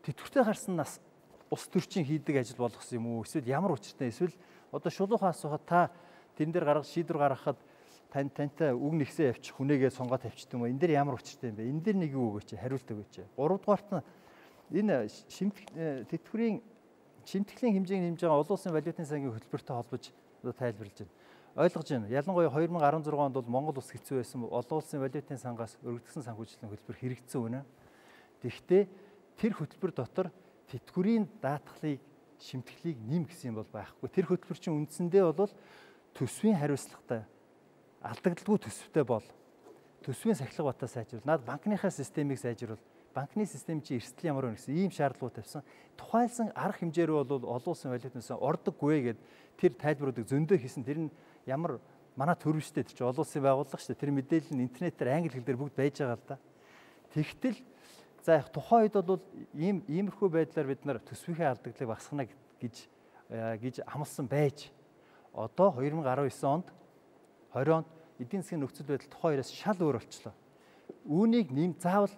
Speaker 3: тэтгэвртэй гарсан нас ус төрчин хийдэг ажил болгосон юм уу? Эсвэл ямар учиртай? Эсвэл одоо шулуухан асуухад та тэн дээр гаргаж шийдвэр гаргахад тань тантай үг нэгсээ явчих хүнээгээ сонгоод тавьчих юм уу? Энэ дээр ямар учиртай юм бэ? Энэ дээр нэг юу өгөөч? Хариулт өгөөч. гуравдугаарт нь энэ шимтгэл тэтгэврийн шимтгэлийн хэмжээг нэмж байгаа олон улсын валютын сангийн хөтөлбөртэй холбож одоо тайлбарлаж байна. Ойлгож байна. Ялангуяа two thousand sixteen онд бол Монгол улс хэцүү байсан. Олон улсын валютын сангаас өргөдсөн санхүүжилтийн хөтөлбөр хэрэгжсэн үнэ. Тэгэхдээ тэр хөтөлбөр дотор тэтгэврийн даатгалыг шимтгэлийг нэм гэсэн юм бол байхгүй. Тэр хөтөлбөр чинь үндсэндээ бол төсвийн хариуцлагатай алдагдaltaгүй төсвтэй бол төсвийн сахилга батаа сайжруул. Наад банкныхаа системийг сайжруул. Банкны систем чи эрсдэл ямар вэ гэсэн ийм шаардлагууд тавьсан. Тухайлсан арга хэмжээр бол олон улсын валютаас ордоггүй гэд тэр тайлбаруудыг зөндөө хийсэн. Тэр нь ямар манай төрөвчтэй тэр чи олон улсын байгууллага шүү дээ. Тэр мэдээлэл нь интернетээр англи хэл дээр бүгд байж байгаа л да. Тэгтэл за тухайн үед бол ийм иймэрхүү байдлаар бид нар төсвийнхээ алдагдлыг багасгана гэж гэж амласан байж одоо two thousand nineteen онд twenty онд эдийн засгийн нөхцөл байдал тухайн үеэс шал өөр болчихлоо. Үүнийг нэм заавал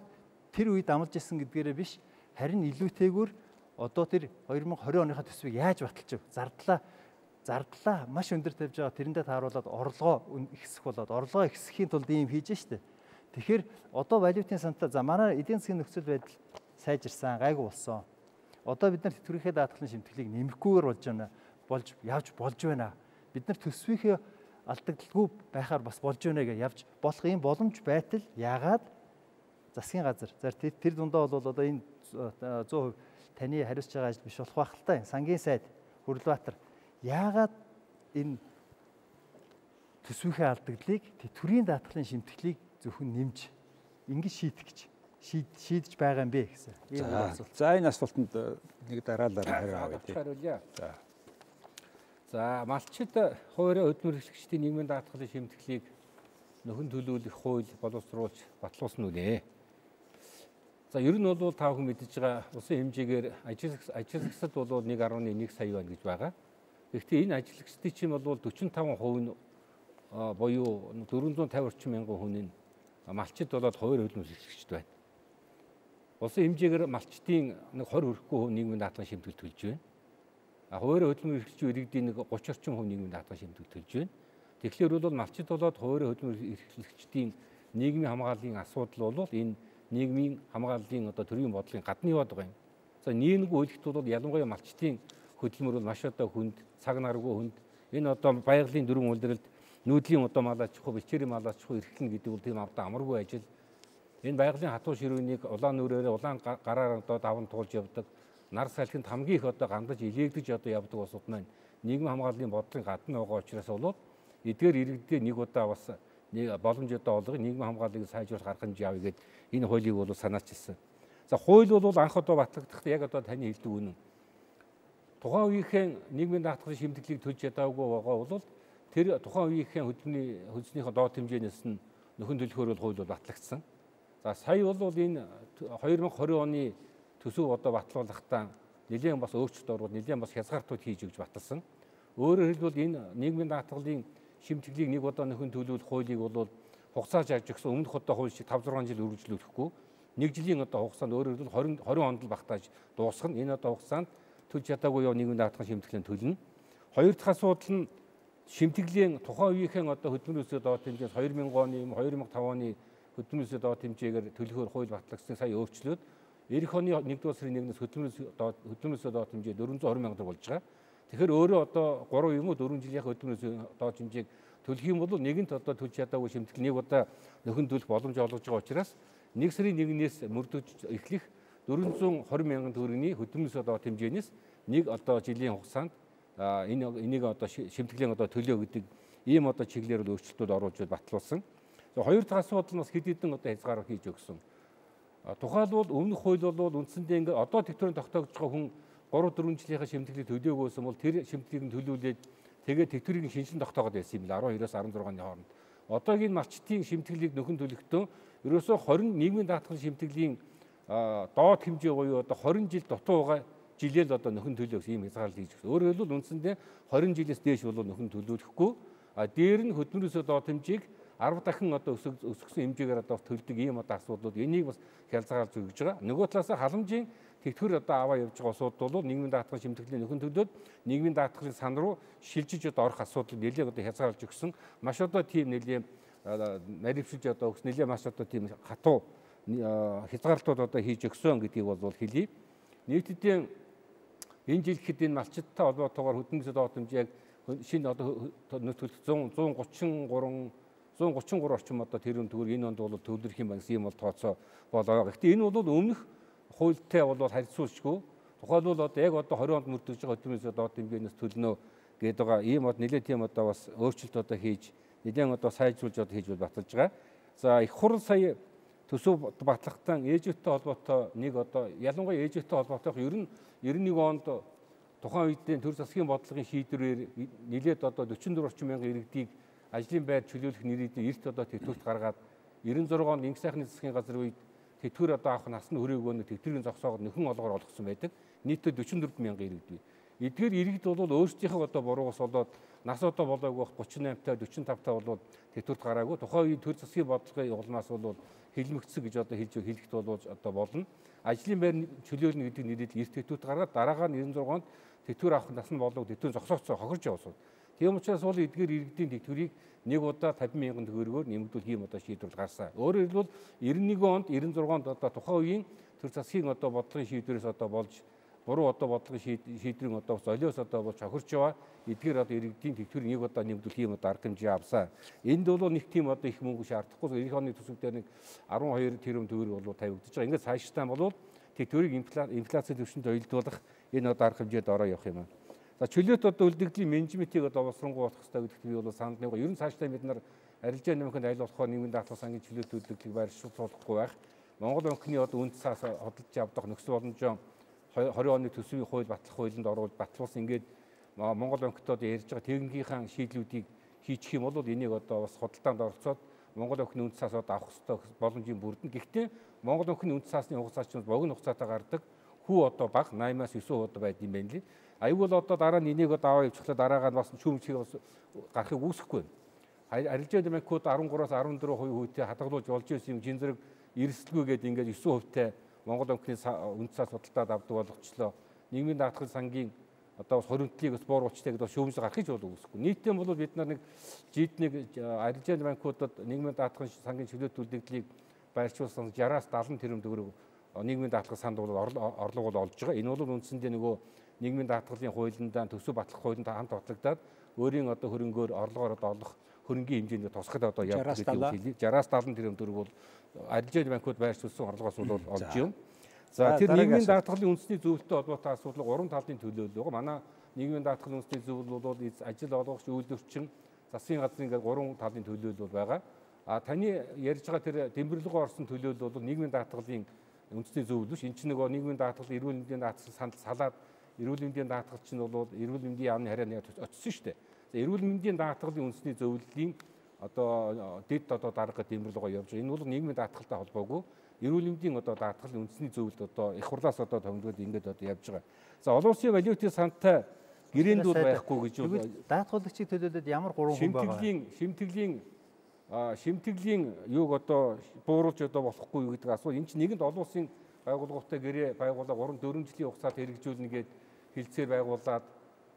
Speaker 3: тэр үед амлаж исэн гэдгээрээ биш, харин илүүтэйгүр одоо тэр two thousand twenty оныхаа төсвийг яаж баталж ив? Зардлаа зардлаа маш өндөр тавьж байгаа. Тэрэндээ тааруулаад орлогоо ихсэх болоод орлогоо ихсэхийн тулд ийм хийж штэ. Тэгэхээр одоо валютын сантаа за манай эдийн засгийн нөхцөл байдал сайжирсан, гайгүй болсон. Одоо бид нар тэтгэврийнхээ даатгалын шимтгэлийг нэмэхгүйгээр болж байна. болж явж болж байна. Бид нар төсвийнхээ алдагдaltaгүй байхаар бас болж байна гэж явж болох юм боломж байтал яагаад засгийн газар за тэр дундаа бол одоо энэ one hundred percent таны хариуцж байгаа ажил биш болох байх л та. Сангийн сайд Хүрлбаатар яагаад энэ төсвийнхээ алдагдлыг тэтгэврийн даатгалын шимтгэлийг зөвхөн нэмж ингэж шийдэх гэж шийдэж байгаа юм бэ гэсэн.
Speaker 1: Ийм асуулт. За энэ асуултанд нэг дараалал хариу авъя.
Speaker 2: Хариулъя. За. За малчид хуваарь хөдөлмөр эрхлэгчдийн нийгмийн даатгалын шимтгэлийг нөхөн төлөвлөх хууль боловсруулж батлуулсан үнэ. За ер нь бол та бүхэн мэдж байгаа улсын хэмжээгээр ажилчид бол one point one сая байна гэж байгаа. Гэхдээ энэ ажилчдын чинь бол forty-five percent нь буюу four hundred fifty орчим мянган хүн нь малчид болоод хуваарь хөдөлмөр эрхлэгчд байна. Улсын хэмжээгээр малчдын нэг twenty хүрэхгүй хүн нийгмийн даатгалын шимтгэл төлж байна. А хуваарь хөдөлмөр эрхлэгчийн иргэдийн нэг thirty орчим хүн нийгмийн даатгалын шимтгэл төлж байна. Тэгэхээр бол малчид болоод хуваарь хөдөлмөр эрхлэгчдийн нийгмийн хамгааллын асуудал бол энэ нийгмийн хамгааллын одоо төрийн бодлогын гадна яваад байгаа юм. За нийгмийн үйлдэлт бол ялангуяа малчдын хөдөлмөр бол маш одоо хүнд, цаг наргүй хүнд. Энэ одоо байгалийн дөрвөн үйлдвэрлэлд нүүдлийн одоо малаач хуу, бичээрийн малаач хуу эрхлэн гэдэг бол тийм авда амаргүй ажил. Энэ байгалийн хатуу ширүүнийг улаан нүрээр улаан гараар одоо даван туулж явдаг. Нар салхинд хамгийн их одоо гандаж илээгдэж одоо явдаг улсууд маань нийгмийн хамгааллын бодлогын гадна байгаа учраас бол эдгээр иргэдээ нэг удаа бас нэг боломж одоо олгох нийгмийн хамгааллыг сайжруулах арга хэмжээ авъя гэд энэ хуулийг бол санаачилсан. За хууль бол анх одоо батлагдахад яг одоо таны хэлдэг үнэн. Тухайн үеийнхэн нийгмийн даатгалын шимтгэлийг төлж чадаагүй байгаа бол тэр тухайн үеийнхэн хөдөлмөрийн хөлснийхөө доод хэмжээнээс нь нөхөн төлөхөөр бол хууль бол батлагдсан. За сая бол энэ twenty twenty оны төсөв одоо батлуулахдаа нэлээд бас өөрчлөлт оруулаад нэлээд бас хязгаартууд хийж өгч баталсан. Өөрөөр хэлбэл энэ нийгмийн даатгалын шимтгэлийг нэг удаа нөхөн төлөвлөх хуулийг бол хугацаа зааж өгсөн өмнөх одоо хууль шиг five six жил үргэлжлүүлэхгүй нэг жилийн одоо хугацаанд өөрөөр хэлбэл twenty twenty онд л багтааж дуусгана. Энэ одоо хугацаанд төлж чадаагүй яв нийгмийн даатгалын шимтгэлийн төлнө. Хоёр дахь асуудал нь шимтгэлийн тухайн үеийнхэн одоо хөдөлмөрөөсөө доод хэмжээс two thousand оны two thousand five оны хөдөлмөрөөсөө доод хэмжээгээр төлөхөөр хууль батлагдсан сая өөрчлөөд эх оны нэгдүгээр сарын нэгнээс хөдөлмөрөөсөө доод хөдөлмөрөөсөө доод хэмжээ four hundred twenty мянга болж байгаа. Тэгэхээр өөрөө одоо three юм уу four жилийн хөдөлмөрөөсөө доод хэмжээг төлөх юм бол нэгэнт одоо төлж чадаагүй шимтгэл нэг удаа нөхөн төлөх боломж олгож байгаа учраас нэг сарын нэгнээс мөрдөж эхлэх four hundred twenty мянган төгрөгийн хөдөлмөрөөсөө доод хэмжээнээс нэг одоо жилийн хугацаанд энэ энийг одоо шимтгэлийн одоо төлөө гэдэг ийм одоо чиглэлээр өөрчлөлтүүд оруулж батлуулсан. За хоёр дахь асуудал нь бас хэд хэдэн одоо хязгаар хийж өгсөн. Тухайлбал өмнөх хууль бол үндсэндээ ингээд одоо тэтгэврийн тогтоогдож байгаа хүн three four жилийнхаа шимтгэлийг төлөөгөөсөн бол тэр шимтгэлийг нь төлүүлээд тэгээд тэтгэврийн шинжилэн тогтоогод байсан юм байна twelve-аас sixteen оны хооронд. Одоогийн малчтын шимтгэлийг нөхөн төлөхдөө ерөөсөө twenty нийгмийн даатгалын шимтгэлийн доод хэмжээ буюу одоо twenty жил дутуу байгаа жилээр одоо нөхөн төлөөх ийм хязгаарлал хийж өгсөн. Өөрөөр хэлбэл үндсэндээ twenty жилээс дээш бол нөхөн төлөвлөхгүй. А дээр нь хөдөлмөрөөсөө доод хэмжээг ten дахин одоо өсгсөн хэмжээгээр одоо төлдөг ийм одоо асуудлууд энийг бас хялцгаалж өгж байгаа. Нөгөө талаас халамжийн тэтгэвэр одоо аваа явж байгаа улсууд бол нийгмийн даатгалын шимтгэлийн нөхөн төлөөд нийгмийн даатгалын сан руу шилжиж одоо орох асуудал нэлээд одоо хязгаарлаж өгсөн. Маш одоо тийм нэлээд нарившилж одоо өгс нэлээд маш одоо тийм хатуу хязгаарлалтууд одоо хийж өгсөн гэдгийг бол хэлье. Нийтдээ энэ жил гэхэд энэ малчидтай холбоотойгоор хөдөлмөрийн доод хэмжээг шинэ одоо one thirty-three one thirty-three орчим одоо тэрүүн төгрөг энэ онд бол төвлөрөх юм байна гэсэн юм бол тооцоо болоо. Гэхдээ энэ бол өмнөх хуультай бол харьцуулшгүй. Тухайлбал одоо яг одоо twenty онд мөрдөж байгаа хөдөлмөрийн доод хэмжээнээс төлнө гэдэг байгаа. Ийм бод нэлээд тийм одоо бас өөрчлөлт одоо хийж нэлээд одоо сайжруулж одоо хийж баталж байгаа. За их хурл сая төсөв батлахтаа ээжүүдтэй холбоотой нэг одоо ялангуяа ээжүүдтэй холбоотой ер нь ninety-one онд тухайн үеийн төр засгийн бодлогын шийдвэрээр нэлээд одоо forty-four орчим мянган иргэдийг ажлын байр чөлөөлөх нэрийдээ эрт одоо тэтгэврт гаргаад ninety-six онд инх сайхны засгийн газар үед тэтгэвэр одоо авах насны хүрээгүй нэг тэтгэврийн зогсоогод нөхөн олгоор олгосон байдаг. Нийтдээ forty-four мянган иргэд бий. эдгээр иргэд бол өөрсдийнхөө одоо буруугаас болоод нас одоо болоогүй гучин наймтай дөрвөн тавтай болоод тэтгэврт гараагүй. Тухайн үеийн төр засгийн бодлогын улмаас бол хэлмэгцсэн гэж одоо хэлж хэлэхэд бол одоо болно. Ажлын байр чөлөөлнө гэдэг нэрээр эрт тэтгэврт гаргаад дараагаар нь девятнадцать онд тэтгэвэр авах нас нь болов тэтгэвэр зогсоогцоо хохирж явсан. Тийм учраас бол эдгээр иргэдийн тэтгэврийг нэг удаа тавин мянган төгрөгөөр нэмэгдүүл хийм одоо шийдвэрлэл гарсан. Өөрөөр хэлбэл девяносто нэг онд девяносто онд одоо тухайн үеийн төр засгийн одоо бодлогын шийдвэрээс одоо болж буруу одоо бодлогын шийдвэрийн одоо золиос одоо болж хохирч яваа. Эдгээр одоо иргэдийн тэтгэврийг нэг удаа нэмэгдүүл хийм одоо арга хэмжээ авсан. Энд бол нэг тийм одоо их мөнгө шаардахгүй. эх оны төсөвдөр нэг арван хоёр тэрбум төгрөг бол тавигдаж байгаа. Ингээд цаашдаа бол тэтгэврийг инфляци түвшинд уялдуулах энэ одоо арга хэмжээд ороо явах юм аа. За чөлөөт одоо үлдэгдлийн менежментийг одоо боловсронгуй болох хэрэгтэй гэдэгт би бол санал нэг. Ер нь цаашдаа бид нар арилжаа нэмэхэд аль болохоор нийгмийн даатгал сангийн чөлөөт үлдэгдлийг байршуулахгүй байх. Монгол банкны одоо үнд цаас хөдөлж авдаг нөхцөл боломжоо двадцать оны төсвийн хууль батлах хуулинд оруулж батлуулсан. Ингээд Монгол банктай одоо ярьж байгаа техникийн шийдлүүдийг хийчих юм бол энийг одоо бас худалдаанд оролцоод Монгол банкны үнд цаас одоо авах хэрэгтэй боломжийн бүрдэн. Гэхдээ Монгол банкны үнд цаасны хугацаа чинь богино хугацаатай гардаг. Хүү одоо бага восемь-аас девять одоо байд юм байна лээ. Аюул бол одоо дараа нь энийг одоо аваа явуучлаа дараагаар нь бас шүүмжлэг бас гарахыг үүсэхгүй. Арилжаа банкуд13-аас fjorteenpercent хувьтэй хадгалуулж болж байсан юм жин зэрэг эрсдэлгүй гэдэг ингээд nine percent хувьтай Монгол банкны үнд цаас худалдаад авдаг болгочлоо. Нийгмийн даатгал сангийн одоо хоригдлыг бас бууруулчтай гэдэг шүүмжлэг гарахыг бол үүсэхгүй. Нийтдээ бол бид нар нэг жид нэг арилжаа банкудад нийгмийн даатгал сангийн чөлөөт үлдэгдлийг байршуулсан sixty-аас seventy тэрбум төгрөг нийгмийн даатгал санд бол орлого бол олж байгаа. Энэ бол үндсэндээ нөгөө нийгмийн даатгалын хуулиндаа төсөв батлах хуулинд хамт батлагдаад өөрийн одоо хөрөнгөөр орлогоор одоо олох хөрөнгийн хэмжээнд тусгад одоо явдаг гэдэг юм хэлээ. sixty-аас seventy тэрбум төгрөг бол арилжаа банкуд байршуулсан орлогоос бол олж юм. За тэр нийгмийн даатгалын үндэсний зөвлөлтөд холбоотой асуудал гурван талын төлөөлөл байгаа. Манай нийгмийн даатгалын үндэсний зөвлөл бол ажил олгогч, үйл өрчин, засгийн газрын ингээд гурван талын төлөөлөл байгаа. А таны ярьж байгаа тэр тэмдэглэгөө орсон төлөөлөл бол нийгмийн даатгалын үндэсний зөвлөл биш. Энд чинь нөгөө нийгмийн даатгал, эрүүл мэндийн даатгал санд салаад эрүүл мэндийн даатгал чинь бол эрүүл мэндийн яамны харьяаны очсон шүү дээ. За эрүүл мэндийн даатгалын үндэсний зөвлөлийн одоо дэд одоо дарга тэмдэглэгөө явж байгаа. Энэ бол нийгмийн даатгалтай холбоогүй. Эрүүл мэндийн одоо даатгалын үндэсний зөвлөлд одоо их хурлаас одоо томилгоод ингээд одоо явж байгаа. За олон улсын валютын сантай гэрээнд бол байхгүй гэж бол
Speaker 3: даатгуулагчийг төлөөлөд ямар гурван хүн байгаа.
Speaker 2: Шимтгэлийн шимтгэлийн шимтгэлийн юуг одоо бууруулж одоо болохгүй гэдэг асуу. Энэ чинь нэгэнд олон улсын байгууллагатай гэрээ байгууллага гурван дөрвөн жилийн хугацаанд хэрэгжүүлнэ гээд хэлцээр байгуулад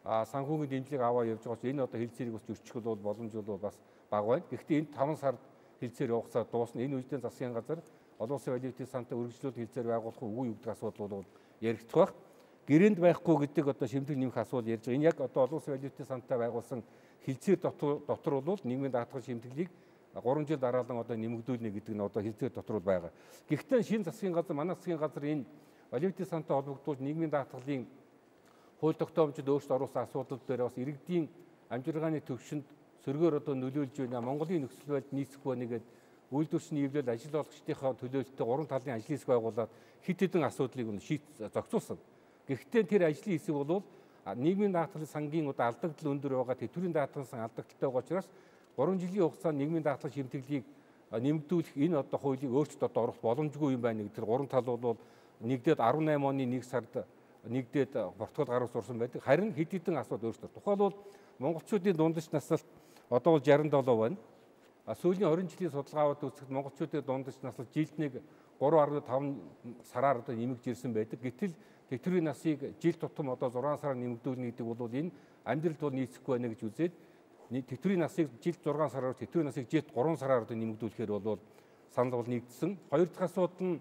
Speaker 2: санхүүгийн дэмжлэг аваа явж байгаа ч энэ одоо хэлцээрийг бас зөрчих бол боломж бол бас бага байна. Гэхдээ энэ таван сард хэлцээр явахсаар дуусна. Энэ үедээ засгийн газар олон улсын валютын сантай үргэлжлүүлэлт хэлцээр байгуулах үгүй юу гэдэг асуудал бол яригдах байх. Гэрээнд байхгүй гэдэг одоо шимтгэл нэмэх асуудал ярьж байгаа. Энэ яг одоо олон улсын валютын сантай байгуулсан хэлцээр дотор дотор бол нийгмийн даатгал шимтгэлийг гурван жил дараалан одоо нэмэгдүүлнэ гэдэг нь одоо хэлцээр дотор байгаа. Гэхдээ шинэ засгийн газар, манай засгийн газар энэ валютын сантай холбогдуулж нийгмийн даатгалын хууль тогтоомжид өөрчлөлт оруулсан асуудал дээр бас иргэдийн амжиргааны төвшөнд сөргөөр одоо нөлөөлж байна. Монголын нөхцөл байдал нийцэх байна гэдэг үйлдвэрчний эвлэл ажил олгогчдынхаа төлөөлөлтөд гурван талын ажлын хэсэг байгуулад хит хитэн асуудлыг шийд зохицуулсан. Гэхдээ тэр ажлын хэсэг бол нийгмийн даатгалын сангийн одоо алдагдал өндөр байгаа тэтгэврийн даатгалын сан алдагдaltaй байгаа учраас гурван жилийн хугацаанд нийгмийн даатгал шимтгэлийг нэмэгдүүлэх энэ одоо хуулийг өөрчлөлт одоо оруулах боломжгүй юм байна гэдэг. Тэр гурван тал бол нэгдээд eighteen оны нэг сард нэгдээд протокол гаргаж урсан байдаг. Харин хэд хэдэн асуудал өөрчлөлт. Тухайлбал монголчуудын дундаж наслалт одоо бол sixty-seven байна. А сүүлийн twenty жилийн судалгаавад үзэхэд монголчуудын дундаж наслалт жилд нэг three point five сараар одоо нэмэгдэж ирсэн байдаг. Гэтэл тэтгэврийн насыг жил тутам одоо six сараар нэмэгдүүлнэ гэдэг бол энэ амьдралд бол нийцэхгүй байна гэж үзээд тэтгэврийн насыг жилд six сараар тэтгэврийн насыг жилд three сараар одоо нэмэгдүүлэхээр бол санал бол нэгдсэн. Хоёр дахь асуудал нь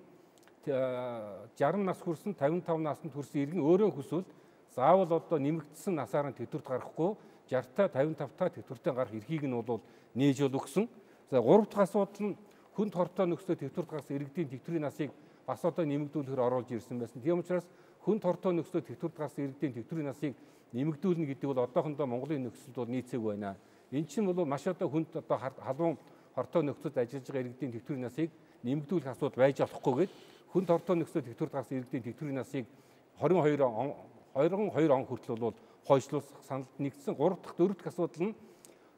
Speaker 2: sixty нас хүрсэн fifty-five наснд хүрсэн иргэн өөрөө хүсвэл заавал одоо нэмэгдсэн насаар нь тэтгэврт гарахгүй sixty-та fifty-five-та тэтгэвртээ гарах эрхийг нь бол нээж бол өгсөн. За гурав дахь асуудал нь хүнд хортой нөхцөлд тэтгэврт гарсан иргэдийн тэтгэврийн насыг бас одоо нэмэгдүүлэхээр оруулж ирсэн байсан. Тийм учраас хүнд хортой нөхцөлд тэтгэврт гарсан иргэдийн тэтгэврийн насыг нэмэгдүүлнэ гэдэг бол одоохондоо Монголын нөхцөлд бол нийцээгүй байна. Энэ чинь бол маш одоо хүнд одоо халуун хортой нөхцөлд ажиллаж байгаа иргэдийн тэтгэврийн насыг нэмэгдүүлэх асуудал байж болохгүйгээд хүнд хортой нөхцөлд тэтгэврт гарсан иргэдийн тэтгэврийн насыг twenty-two он хүртэл бол хойшлуулах саналд нэгдсэн. Гурав дахь дөрөв дахь асуудал нь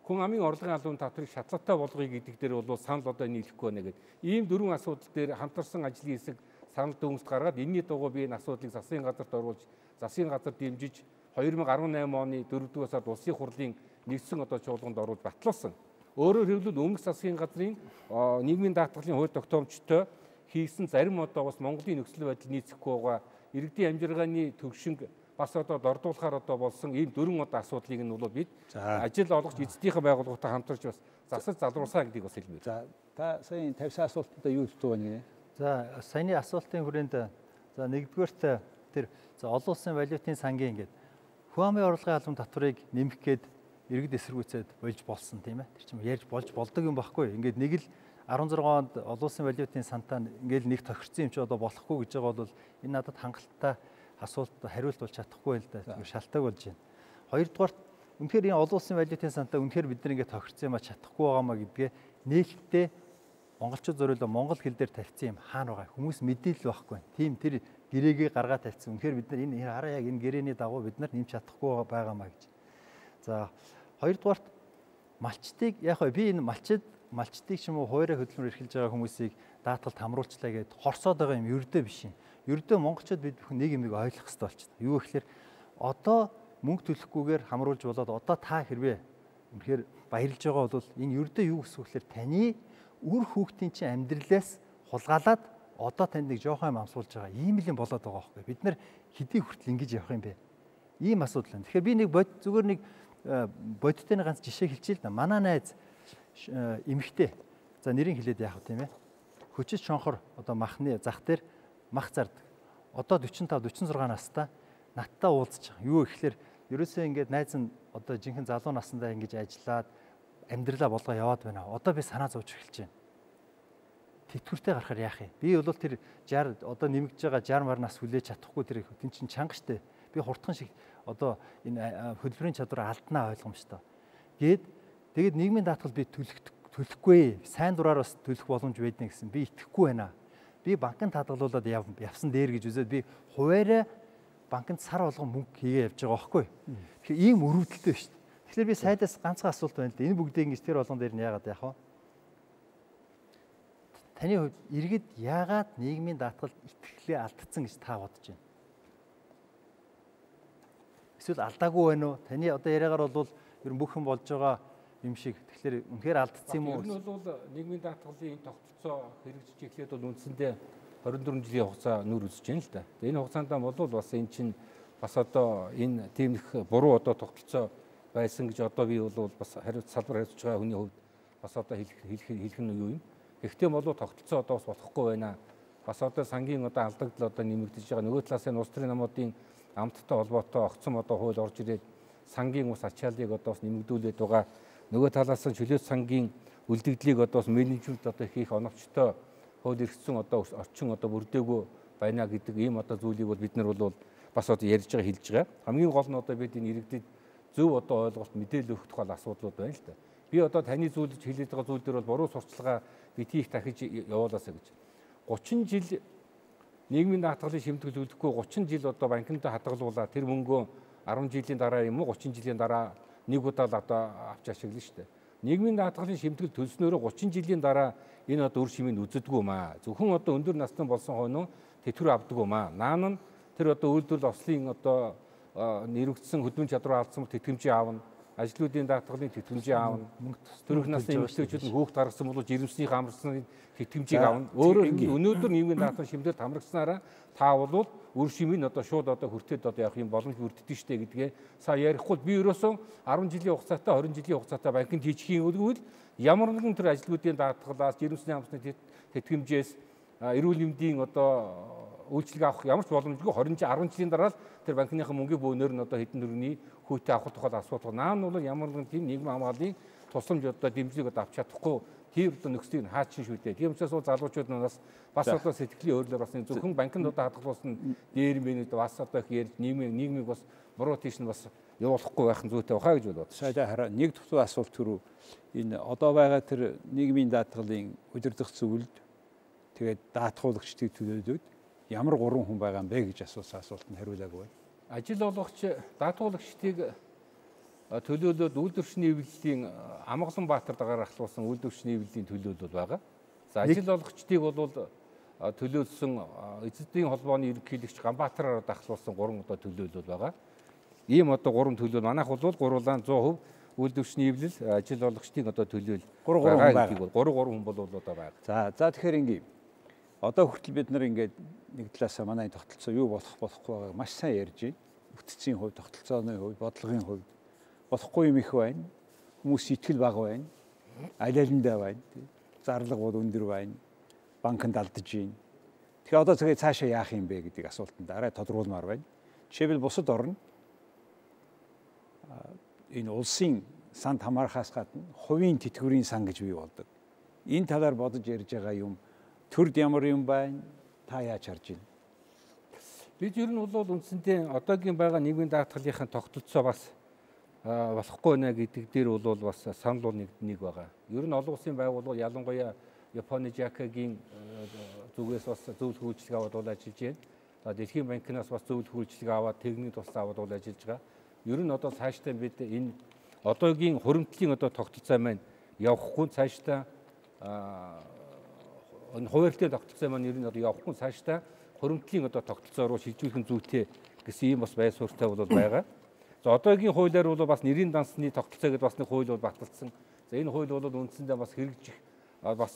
Speaker 2: хүн амын орлогын албан татварыг шатлалтай болгоё гэдэг дээр бол санал одоо нийлэхгүй байна гэдэг. Ийм дөрвөн асуудал дээр хамтарсан ажлын хэсэг санал дүгнэлт гаргаад энэний дугуй би энэ асуудлыг засгийн газарт оруулж засгийн газар дэмжиж хоёр мянга арван найман оны дөрөвдүгээр сард улсын хурлын нэгдсэн одоо чуулганд оруулж батлуулсан. Өөрөөр хэлбэл өмнөх засгийн газрын нийгмийн даатгалын хууль тогтоомжтой хийсэн зарим одоо бас Монголын нөхцөл байдал нийцэхгүй байгаа иргэдийн амжиргааны төвшинг бас одоо дордуулахаар одоо болсон ийм дөрвөн одоо асуудлыг нь бол бид ажил олгож эзэдийнхээ байгууллагатай хамтарч бас засаж залруулсан гэдгийг бас хэлмээр.
Speaker 1: За та сая тавьсан асуултанд юу хэлдэг вэ?
Speaker 3: За саяны асуултын хүрээнд за нэгдүгээрт тэр за олон улсын валютын сангийн ингээд хүн амын орлогын албан татварыг нэмэх гээд иргэд эсэргүүцээд болж болсон тийм ээ. Тэр чинь ярьж болж болдог юм байхгүй. Ингээд нэг л арван зургаан онд олон улсын валютын сантаа ингээд нэг тохирсон юм чи одоо болохгүй гэж байгаа бол энэ надад хангалттай асуулт хариулт болж чадахгүй л да. Шалтгаан болж байна. Хоёрдугаарт үнэхээр энэ олон улсын валютын сантаа үнэхээр бид нар ингээд тохирсон юм а чадахгүй байгаамаа гэдгээ нээлттэй монголчууд зориулсан монгол хэл дээр тавьсан юм хаана байгаа хүмүүс мэдээлэл байхгүй. Тийм тэр гэрээгээ гаргаад тавьсан. Үнэхээр бид нар энэ хараа яг энэ гэрээний дагуу бид нар нэмж чадахгүй байгаамаа гэж. За хоёрдугаарт малчтыг яг би энэ малчид малчтыг ч юм уу хуурай хөдөлмөр эрхэлж байгаа хүмүүсийг даатгалд хамруулчлаа гэдээ хорсоод байгаа юм ердөө биш юм. Ердөө монголчууд бид бүхэн нэг юмыг ойлгох хэрэгтэй болчихсон. Юу гэхээр одоо мөнгө төлөхгүйгээр хамруулж болоод одоо та хэрвээ үнэхээр баярлж байгаа бол энэ ердөө юу гэсэн үг гэхээр таны үр хүүхдийн чинь амьдралаас хулгайлаад одоо танд нэг жоохон юм амсуулж байгаа. Ийм л юм болоод байгаа байхгүй. Бид нар хэдий хүртэл ингэж явах юм бэ? Ийм асуудал байна. Тэгэхээр би нэг бод зүгээр нэг бодиттой нэг ганц жишээ хэлчихье л да. Манай найз эмэгтэй. За нэрийг хэлээд яах вэ тийм ээ? Хөчөж шонхор одоо махны зах дээр мах зардаг. Одоо дөрвөн тавь дөрвөн зургаан настай надтай уулзж байгаа. Юу гэхээр ерөөсөө ингээд найз нь одоо жинхэнэ залуу насндаа ингэж ажиллаад амьдралаа болгоо яваад байна. Одоо би санаа зовж эхэлж байна. Тэтгэвртэй гарахаар яах юм? Би бол тэр шестьдесят одоо нэмэгдэж байгаа шестьдесят мар нас хүлээж чадахгүй тэр тэн чин чанга штэ. Би хурдхан шиг одоо энэ хөдөлмөрийн чадвар алднаа ойлгомжтой. Гээд тэгээд нийгмийн даатгал би төлөх төлөхгүй. Сайн дураар бас төлөх боломж байдна гэсэн. Би итгэхгүй байна. Би банкнд хадгалуулаад явсан дээр гэж үзээд би хуваараа банкнд сар болгон мөнгө хийгээ явж байгаа байхгүй. Тэгэхээр ийм өрөвдөлтөө шүү дээ. Тэгэхээр би сайдаас ганцхан асуулт байна л да. Энэ бүгдийг ингэж тэр болгон дээр нь яагаад яах вэ? Таны хувьд иргэд яагаад нийгмийн даатгалд итгэлээ алдсан гэж та бодож байна? Эсвэл алдаагүй байна уу? Таны одоо яриагаар бол ер нь бүх юм болж байгаа юм шиг. Тэгэхээр үнэхээр алдсан юм уу?
Speaker 2: Энэ бол нийгмийн даатгалын тогтолцоо хэрэгжиж эхлээд бол үндсэндээ хорин дөрвөн жилийн хугацаа нүр үзэж байна л да. Энэ хугацаанд бол бас энэ чинь бас одоо энэ тийм их буруу одоо тогтолцоо байсан гэж одоо би бол бас хариуц салбар хариуцж байгаа хүний хувьд бас одоо хэлэх хэлэх нь юу юм? Гэхдээ болоо тогтолцоо одоо бас болохгүй байна. Бас одоо сангийн одоо алдагдал одоо нэмэгдэж байгаа. Нөгөө талаас нь улс төрийн намуудын амттай холбоотой огцом одоо хууль орж ирээд сангийн ус ачааллыг одоо бас нэмэгдүүлээд байгаа. Нөгөө талаас нь чөлөөт сангийн үлдэгдлийг одоо бас менежмент одоо хийх оновчтой хууль эрхцэн одоо орчин одоо бүрдээгүй байна гэдэг ийм одоо зүйлийг бол бид нар бол бас одоо ярьж байгаа хэлж байгаа. Хамгийн гол нь одоо бид энэ иргэдэд зөв одоо ойлголт мэдээлэл өгөх тухай асуудлууд байна л да. Би одоо таны зүйлж хэлээд байгаа зүйл дээр бол буруу сурталчилгаа битгий их дахиж явуулаасаа гэж. гучин жил нийгмийн даатгалын шимтгэл төлөхгүй гучин жил одоо банкнд хадгалуулаад тэр мөнгөө арван жилийн дараа юм уу гучин жилийн дараа нэг удаа л одоо авч ашиглана шүү дээ. Нийгмийн даатгалын шимтгэл төлснөөрөө гучин жилийн дараа энэ одоо үр шимийг үздэг юм аа. Зөвхөн одоо өндөр насны болсон хойно тэтгэвэр авдаг юм аа. Наан нь тэр одоо үйлдвэрлэл ослын одоо нэрвэгдсэн хөдөлмөрийн чадвар алдсан тэтгэмжийг аавна. Ажлуудын даатгалын тэтгэмжийг аавна. Төрөх насны эмэгтэйчүүд нь хүүхд гаргасан бол жирэмсний хамрагсны тэтгэмжийг аавна. Өөрөөр хэлбэл өнөөдөр нийгмийн даатгалын шимтгэлд хамрагснараа та бол үр шимийг одоо шууд одоо хүртээд одоо явах юм боломж бүрддэг штэ гэдгээ сая ярихгүй би ерөөсөө арван жилийн хугацаатай хорин жилийн хугацаатай банкнд хийчихийн үгвэл ямар нэгэн тэр ажлуудын даатгалаас жирэмсний хамрагсны тэтгэмжээс эрүүл мэндийн одоо үйлчлэг авах ямар ч боломжгүй хорин арван жилийн дараа л тэр банкныхаа мөнгөний бөөнөр нь одоо хэдэн төгрөгийн хүүтэй авах тухай асуудал. Наан нь бол ямар нэгэн тийм нийгмийн хамгааллын тусламж одоо дэмжлэг одоо авч чадахгүй тэр одоо нөхцөлийг хаачин шүү дээ. Тийм учраас бол залуучууд нас бас одоо сэтгэлийн өөрлөөр бас зөвхөн банкнд одоо хадгалуулсан дээр мэнэд бас одоо их ярьж нийгмийн нийгмийг бас буруу тийш нь бас явуулахгүй байх нь зүйтэй баха гэж бодоод.
Speaker 1: Сайдаа хараа нэг дахь асуулт түрүү энэ одоо байгаа тэр нийгмийн даатгалын удирдах зөвлөлд тэгээд даатгуулагчдыг төлөөлөөд ямар гурван хүн байгаа юм бэ гэж асуусан асуултанд хариулаагүй байна.
Speaker 2: Ажил олгогч даатгуулагчдыг төлөөлөөд үйлдвэрчний эвлэлийн Амгалан Баатар дагаар ахлуулсан үйлдвэрчний эвлэлийн төлөөлөл байгаа. За ажил олгогчдыг бол төлөөлсөн эзэдийн холбооны ерөнхийлөгч Ганбаатараар дахлуулсан гурван одоо төлөөлөл байгаа. Ийм одоо гурван төлөв манайх бол гуруулаан цув хувь үйлдвэрчний эвлэл ажил олгогчдын одоо төлөөл байгаа гэдгийг бол гурав гурав хүн бол одоо байгаа.
Speaker 1: За за тэгэхээр ингээм одоо хүртэл бид нар ингээд нэг талаасаа манай тогтолцоо юу болох болохгүй байгааг маш сайн ярьж байна. Бүтцийн хувь, тогтолцооны хувь, бодлогын хувь болохгүй юм их байна. Хүмүүс итгэл бага байна. Аль алиндаа байна. Зарлага бол өндөр байна. Банкнд алдаж байна. Тэгэхээр одоо тэгээ цаашаа яах юм бэ гэдэг асуултанд арай тодруулмаар байна. Жишээлбэл бусад орн энэ улсын санд хамаарахаас гадна хувийн тэтгэврийн сан гэж бий болдог. Энэ талаар бодож ярьж байгаа юм төрд ямар юм байна? Та яаж харж байна?
Speaker 2: Бид ер нь бол үндсэндээ одоогийн байгаа нийгмийн даатгалынхаа тогтолцоо бас болохгүй нэ гэдэг дээр бол бас санал бол нэг нэг байгаа. Ер нь олон улсын байгууллага ялангуяа Японы Жакагийн зүгээс бас зөвлөх үйлчлэг аваад бол ажиллаж байна. Дэлхийн банкнаас бас зөвлөх үйлчлэг аваад техникийн туслан аваад бол ажиллаж байгаа. Ер нь одоо цаашдаа бид энэ одоогийн хуримтлалын одоо тогтолцоо маань явахгүй цаашдаа энэ хуваарлтын тогтолцоо маань ер нь одоо явахгүй цаашдаа хуримтлалын одоо тогтолцоо руу шилжүүлэх зүйтэй гэсэн ийм бас байр суурьтай бол байгаа. За одоогийн хуулиар бол бас нэрийн дансны тогтолцоо гэдэг бас нэг хууль бол баталсан. За энэ хууль бол үндсэндээ бас хэрэгжих бас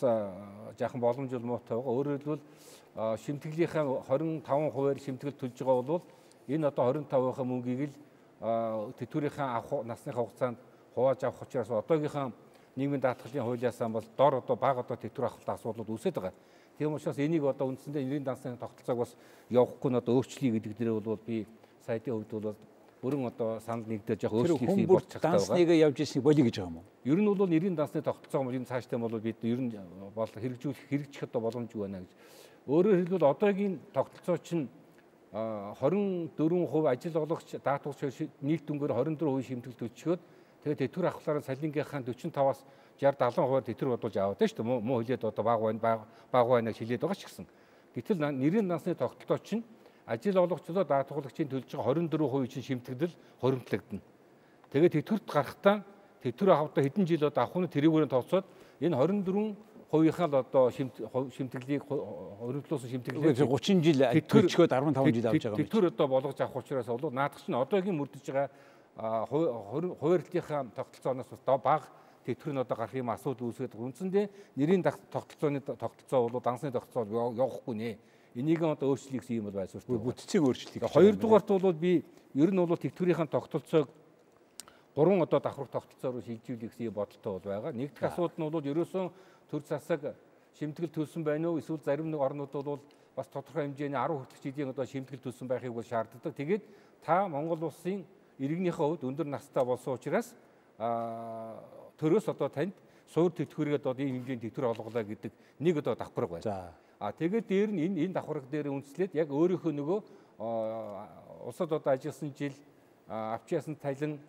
Speaker 2: жаахан боломжтой муутай байгаа. Өөрөөр хэлбэл шимтгэлийнхаа двадцать и пять хувиар шимтгэл төлж байгаа бол энэ одоо двадцать и пять-ийнхаа мөнгийг л тэтгэврийнхаа авах насныхаа хугацаанд хувааж авах учраас одоогийнхаа нийгмийн даатгалын хуулиасаа бол дор одоо бага одоо тэтгэвэр авахтай асуудлууд үүсэж байгаа. Тийм учраас энийг одоо үндсэндээ нэрийн дансны тогтолцоог бас явахгүй нь одоо өөрчлөе гэдэг дээр бол би сайдын хувьд бол бүрэн одоо санал нэгдэж яг өөрчлөлт болж чаддаг байгаа.
Speaker 1: Дансныг явж ирснийг болиё гэж байгаа юм уу?
Speaker 2: Ер нь бол нэрийн дансны тогтолцоо юм цааштай бол бид ер нь бол хэрэгжүүлэх хэрэгжих одоо боломжгүй байна гэж. Өөрөөр хэлбэл одоогийн тогтолцоо чинь двадцать и четыре хувь ажил олгогч даатгалч нийт дүнгээр двадцать и четыре хувь шимтгэл төлчгөөд тэгээд тэтгэвэр авахлаараа саллингийнхаа forty-five-аас sixty seventy хувиар тэтгэвэр бодуулж аваад шүү дээ. Муу хилээд одоо баг байна баг байна гэж хилээд байгаа ч гэсэн. Гэтэл нэрийн дансны тогтолцоо чинь ажил олгогчлоо даатгалагчийн төлж байгаа двадцать и четыре хувь чинь шимтгэл хуримтлагдана. Тэгээд тэтгэврт гарахтаа тэтгэвэр авахдаа хэдэн жил одоо авах нь тэрүүгээр тооцоод энэ двадцать и четыре хувийнхаа л одоо шимтгэлийг хоригдлуулсан шимтгэлийг
Speaker 1: thirty жил төлчгөөд fifteen жил авч байгаа юм.
Speaker 2: Тэтгэвэр одоо болгож авах учраас бол наадах чинь одоогийн мөрдөж байгаа хуваарлтынхаа тогтолцооноос бас бага тэтгэвэр нь одоо гарах юм асуудал үүсгээд үндсэндээ нэрийн тогтолцооны тогтолцоо бол дансны тогтолцоо явахгүй нэ. Энийг одоо өөрчлөх гэсэн юм бол байсууртай.
Speaker 1: Бүтцийн өөрчлөлт.
Speaker 2: Хоёрдугаарт бол би ер нь бол тэтгэврийн тогтолцоог гурван одоо давхар тогтолцоо руу шилжүүлэх гэсэн бодолтой бол байгаа. Нэг дахь асуудал нь бол ерөөсөн төр засаг шимтгэл төлсөн байна уу? Эсвэл зарим нэг орнууд бол бас тодорхой хэмжээний ten хүртэлх жилийн одоо шимтгэл төлсөн байхыг бол шаарддаг. Тэгээд та Монгол улсын иргэнийхээ хувьд өндөр настай болсон учраас төрөөс одоо танд суур тэтгэврээд одоо ийм хэмжээний тэтгэвэр олголоо гэдэг нэг одоо давхарга байна.
Speaker 1: За.
Speaker 2: А тэгээд дээр нь энэ энэ давхарга дээр үндэслээд яг өөрийнхөө нөгөө улсад одоо ажилласан жил авч яасан талин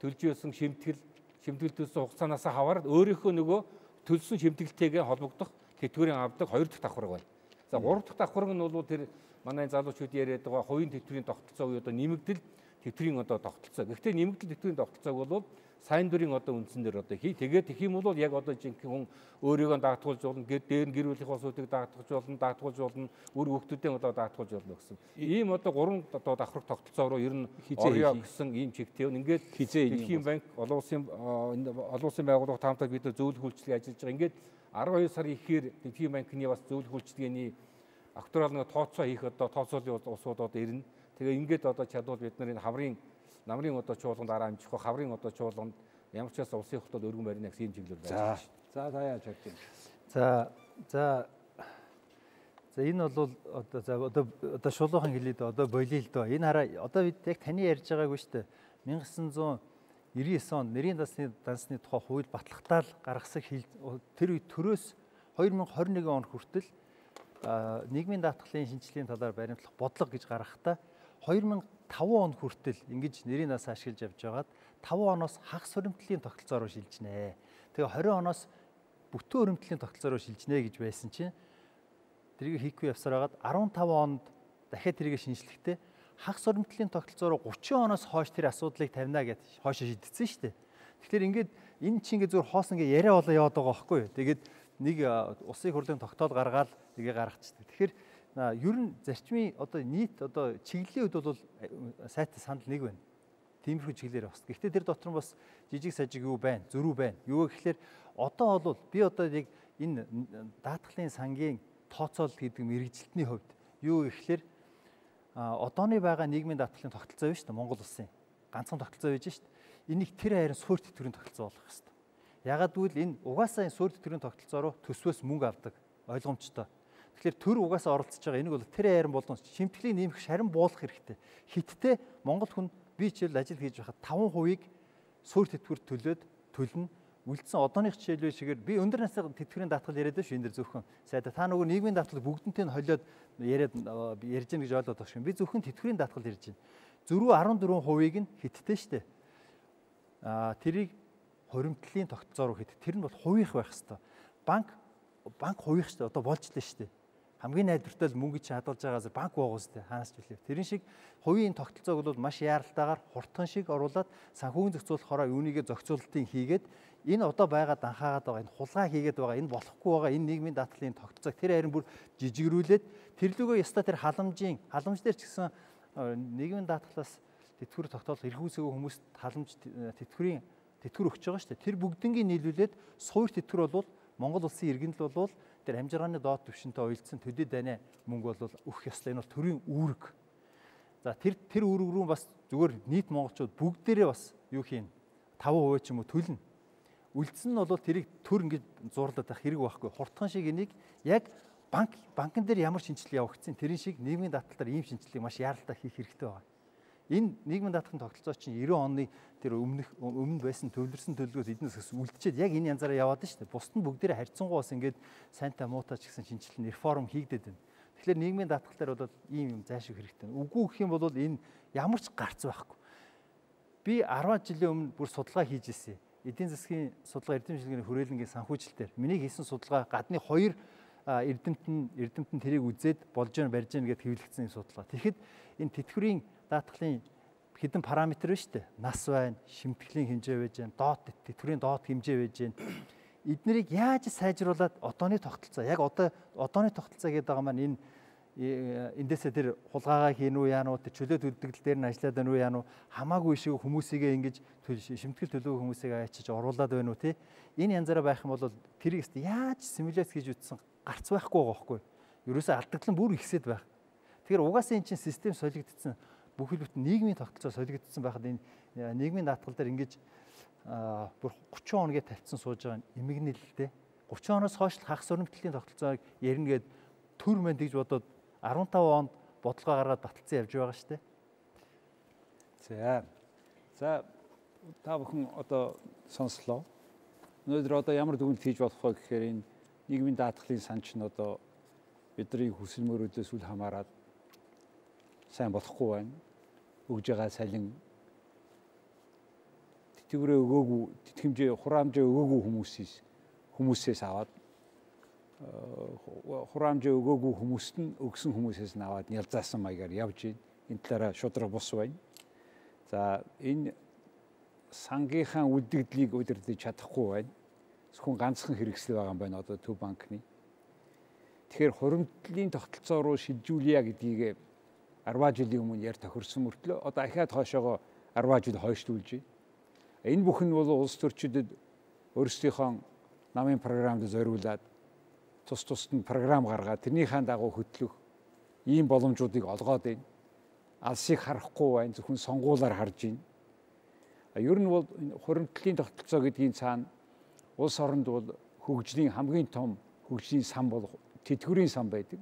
Speaker 2: төлж яасан шимтгэл шимтгэл төлсөн хугацаанаас хаваад өөрийнхөө нөгөө төлсөн шимтгэлтэйгээ холбогдох тэтгэврийн авдаг хоёр дахь давхарга байна. За гурав дахь давхарга нь бол тэр манай залуучууд яриад байгаа хувийн тэтгэврийн тогтолцоо буюу одоо нэмэгдэл тэтгэврийн одоо тогтолцоо. Гэхдээ нэмэгдэл тэтгэврийн тогтолцоог бол сайн дурын одоо үндсэн дээр одоо хий. Тэгээд их юм бол яг одоо жинхэнэ хүн өөрийгөө даатгуулж болно, дээр нь гэр бүлийн улсуудыг даатгуулж болно, даатгуулж болно, үр хүүхдүүдээ одоо даатгуулж болно гэсэн. Ийм одоо гурван одоо давхар тогтолцоо руу ер нь орё гэсэн ийм чигтэй. Ингээд Дэлхийн банк, олон улсын олон улсын байгууллага таамтаа бид зөвлөх үйлчлэг ажиллаж байгаа. Ингээд twelve сарын ихээр Дэлхийн банкны бас зөвлөх үйлчлэгээний акторал нэг тооцоо хийх одоо тооцоолын усууд одоо ирнэ. Тэгээ ингээд одоо чадвал бид нар энэ хаврын намрын одоо чуулганд дараа амжих хаврын одоо чуулганд ямар ч бас улсын хотод өргөн барина гэсэн юм чиглэл байна.
Speaker 1: За за яаж харж байна.
Speaker 3: За за за энэ бол одоо за одоо одоо шулуухан хэлээд одоо болиё л доо. Энэ хараа одоо бид яг таны ярьж байгаагүй шүү дээ. nineteen ninety-nine онд нэрийн дансны дансны тухай хууль батлахтаа л гаргасан тэр үед төрөөс twenty twenty-one он хүртэл нийгмийн даатгалын шинжилгээний талаар баримтлах бодлого гэж гаргахтаа two thousand five он хүртэл ингэж нэрийн дас ашиглаж явж байгаад five оноос хагас хуримтлалын тогтолцоо руу шилжнэ. Тэгээ twenty оноос бүтэн хуримтлалын тогтолцоо руу шилжнэ гэж байсан чинь тэрийг хийхгүй явсаар байгаад fifteen онд дахиад тэрийг шинжлэхдээ хагас хуримтлалын тогтолцоо руу thirty оноос хойш тэр асуудлыг тавина гэж хойшоо шийдсэн шүү дээ. Тэгэхээр ингээд энэ чинь ингээд зүгээр хоос ингээд яриа болоо яваад байгаа байхгүй юу. Тэгээд нэг улсын хурлын тогтоол гаргаад нэгээ гаргачихдаг. Тэгэхээр ер нь зарчмын одоо нийт одоо чиглэлийн үед бол сайтай санал нэг байна. тиймэрхүү чиглэлээр бас. Гэхдээ тэр дотор нь бас жижиг сажиг юу байна, зөрүү байна. Юу гэхээр одоо бол би одоо яг энэ даатгалын сангийн тооцоолол гэдэг мэрэгжилтний хувьд юу гэхээр одооны байгаа нийгмийн даатгалын тогтолцоо биш үү Монгол улсын ганцхан тогтолцоо байж шүү дээ. Энийг тэр хайрын суурь тэтгэврийн тогтолцоо болгох хэрэгтэй. Ягаад гэвэл энэ угаасаа энэ суурь тэтгэврийн тогтолцоо руу төсвөөс мөнгө авдаг ойлгомжтой. Тэгэхээр төр угаасаа оролцож байгаа энийг бол тэр хайрын болон шимтгэлийг нэмэх шарин буулгах хэрэгтэй. Хиттэй Монгол хүн би жишээл ажил хийж байхад таван хувийг суурь тэтгэврт төлөөд төлнө. Үлдсэн одооных жишээлбэл шигээр би өндөр насны тэтгэврийн даатгал яриад байна шүү энэ дэр зөвхөн. Сайда та нөгөө нийгмийн даатгал бүгднтэй нь холиод яриад ярьж гэнэ гэж ойлгоод байгаа шүү. Би зөвхөн тэтгэврийн даатгал ярьж байна. Зөрүү арван дөрвөн хувийг нь хиттэй штэ. Аа тэрийг хуримтлалын тогтолцоо руу хит. Тэр нь бол хувийнх байх хэвээр. Банк банк хувийнх штэ. Одоо болж лээ штэ. Хамгийн найдвартай л мөнгө чи хадгалж байгаас банк боогоос тэ хаанаас ч үлээ. Тэрэн шиг хувийн тогтолцоог бол маш яаралтайгаар хурдхан шиг оруулаад санхүүгийн зохицуулахаараа юунийгээ зохицуулалтын хийгээд энэ одоо байгаа данхаагаад байгаа энэ хулгай хийгээд байгаа энэ болохгүй байгаа энэ нийгмийн даатгалын тогтолцоог тэр харин бүр жижигрүүлээд тэрлөгөө яста тэр халамжийн халамж дээр ч гэсэн нийгмийн даатгалаас тэтгэвэр тогтоол эрх үүсгээг хүмүүст халамж тэтгэврийн тэтгэвэр өгч байгаа шүү дээ. Тэр бүгднийг нийлүүлээд суурь тэтгэвэр бол Монгол улсын иргэнэл бол тэр амжиргааны доод түвшинтэй уялдсан төдий дайны мөнгө бол өгөх ёстой. Энэ бол төрийн үүрэг. За тэр тэр үүрэг рүү бас зүгээр нийт монголчууд бүгдээрээ бас юу хийн таван хувиа ч юм уу төлнө. Үлдсэн нь бол тэрийг төр ингэж зурлаад байх хэрэг байхгүй. Хурдхан шиг энийг яг банк банкн дээр ямар шинжилгээ явагдсан тэрийн шиг нийгмийн даатгалаар ийм шинжилгээг маш яаралтай хийх хэрэгтэй байна. Энэ нийгмийн даатгалын тогтолцоо чинь девяносто оны тэр өмнөх өмнө байсан төвлөрсөн төлөвлөгөөс эднээс үлдчихэд яг энэ янзаараа яваад нь шүү дээ. Бусд нь бүгдээрээ харьцангуй бас ингээд сайнтай муутай ч гэсэн шинжилэн реформ хийгдээд байна. Тэгэхээр нийгмийн даатгалаар бол ийм юм зайлшгүй хэрэгтэй. Үгүй гэх юм бол энэ ямар ч гарц байхгүй. Би арван жилийн өмнө бүр судалгаа хийж ирсэн. Эдийн засгийн судалгаа эрдэм шилжээний хүрээлэнгийн санхүүжилтээр миний хийсэн судалгаа гадны хоёр эрдэмт нь эрдэмт нь тэрийг үзээд болж гэн барьж гэн гэд хэвлэгдсэн судалгаа. Тэгэхэд энэ тэтгэврийн даатгалын хэдэн параметр байна шүү дээ. Нас байна, шимтгэлийн хэмжээ байж байна, доод тэтгэврийн доод хэмжээ байж байна. Эднэрийг яаж сайжруулад одооны тогтолцоо, яг одоо одооны тогтолцоо гэдэг байгаа маань энэ эндээсээ тэр хулгайгаа хийн үү яа нү, тэр чөлөө төлөвлөлт дээр нь ажиллаад байна уу яа нү, хамаагүй шиг хүмүүсийгээ ингэж шимтгэл төлөв хүмүүсийг ачиж оруулаад байна уу тий. Энэ янзаараа байх юм бол тэрийг яаж симуляц хийж үтсэн гарц байхгүй байгаа байхгүй. Ерөөсөө алдагдлан бүр ихсээд байх. Тэгэхээр угаасаа эн чинь систем солигдсон бүхэл бүтэн нийгмийн тогтолцоо солигдсон байхад энэ нийгмийн даатгал дээр ингэж бүр гучин хоногийн тавьсан сууж байгаа эмгэнэл л дээ. гучин хоноос хойш хагас өрнөмтлийн тогтолцоог ярина гэд төр мэнд гэж бодоод арван таван онд бодлого гаргаад баталсан явж байгаа шүү дээ.
Speaker 1: За. За та бүхэн одоо сонслоо. Өнөөдөр одоо ямар дүгнэлт хийж болох вэ гэхээр энэ нийгмийн даатгалын сан чинь одоо бидний хүсэл мөрөөдөөс үл хамааран сайн болохгүй байна. Өгж байгаа салин тэтгэврээ өгөөгүй, тэтгэмжээ хураамжаа өгөөгүй хүмүүсээс хүмүүсээс аваад хураамжаа өгөөгүй хүмүүст нь өгсөн хүмүүсээс нь аваад нялзаасан маягаар явж байна. Энэ талаараа шудраг бус байна. За энэ сангийнхаа үлдэгдлийг удирдах чадахгүй байна. Зөвхөн ганцхан хэрэгсэл байгаа юм байна одоо Төв банкны. Тэгэхээр хуримтлалын тогтолцоо руу шилжүүлье гэдгийг арван жилийн өмнө яар тохирсон мөртлөө одоо ахаад хойшоогоо арван жил хойшлуулж байна. Энэ бүхэн нь бол улс төрчидөд өөрсдийнхөө намын програмд зориулаад тус тусад нь програм гаргаад тэрнийхэн дагуу хөтлөх ийм боломжуудыг олгоод байна. Алсыг харахгүй байна, зөвхөн сонгуулаар харж байна. Ер нь бол хуримтлалын тогтолцоо гэдгийн цаана улс оронд бол хөгжлийн хамгийн том хөгжлийн сан бол тэтгэврийн сан байдаг.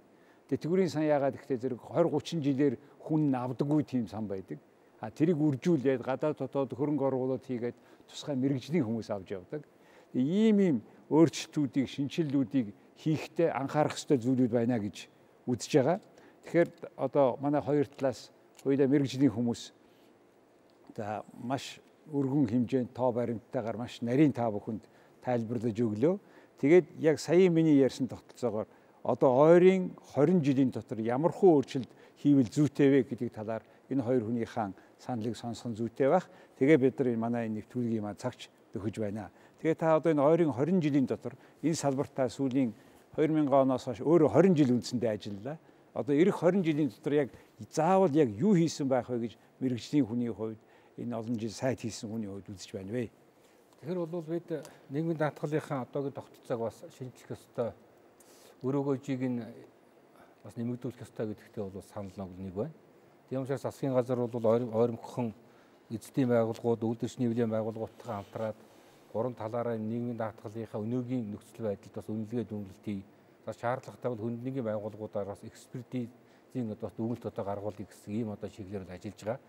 Speaker 1: Тэтгэврийн сан яагаад гэхдээ зэрэг двадцать тридцать жилээр хүн авдаггүй тийм сан байдаг. А тэрийг үржүүлээд гадаад дотоод хөрөнгө оруулалт хийгээд тусгай мэрэгжлийн хүмүүс авч явдаг. Ийм ийм өөрчлөлтүүдийг, шинжилэлүүдийг хийхдээ анхаарах ёстой зүйлүүд байна гэж үзэж байгаа. Тэгэхээр одоо манай хоёр талаас хоёулаа мэрэгжлийн хүмүүс за маш өргөн хэмжээнд тоо баримттайгаар маш нарийн та бүхэнд тайлбарлаж өглөө. Тэгээд яг саяын миний ярьсан тогтолцоогоор одоо ойрын двадцать жилийн дотор ямархуу өөрчлөлт хийвэл зүйтэй вэ гэдэг талаар энэ хоёр хүнийхэн саналыг сонсох зүйтэй байх. Тэгээ бид нар манай нэвтрүүлгийн маань цагч өгөж байна. Тэгээ та одоо энэ ойрын двадцать жилийн дотор энэ салбартаа сүүлийн две тысячи оноос хойш өөрөө двадцать жил үндсэндээ ажиллалаа. Одоо эх двадцать жилийн дотор яг заавал яг юу хийсэн байх вэ гэж мэрэгжлийн хүний хувьд энэ олон жил сайд хийсэн хүний хувьд үзэж байна вэ?
Speaker 2: Тэгэхээр бол бид нийгмийн даатгалынхаа одоогийн тогтолцоог бас шинжлэх ёстой, өрөөгөөжийг нь бас нэмэгдүүлэх ёстой гэдэгтээ бол санал нэг байна. Тийм учраас засгийн газар бол ойрмогхон эзэдийн байгууллагууд, үйлдвэрч нийлэлийн байгууллагуудтай хамтраад гурван талаараа нийгмийн даатгалынхаа өнөөгийн нөхцөл байдалд бас үнэлгээ дүгнэлт хий. За шаардлагатай бол хүнднгийн байгууллагуудаар бас экспертизийн одоо дүгнэлт одоо гаргуулъя гэсэн ийм одоо чиглэлээр ажиллаж байгаа.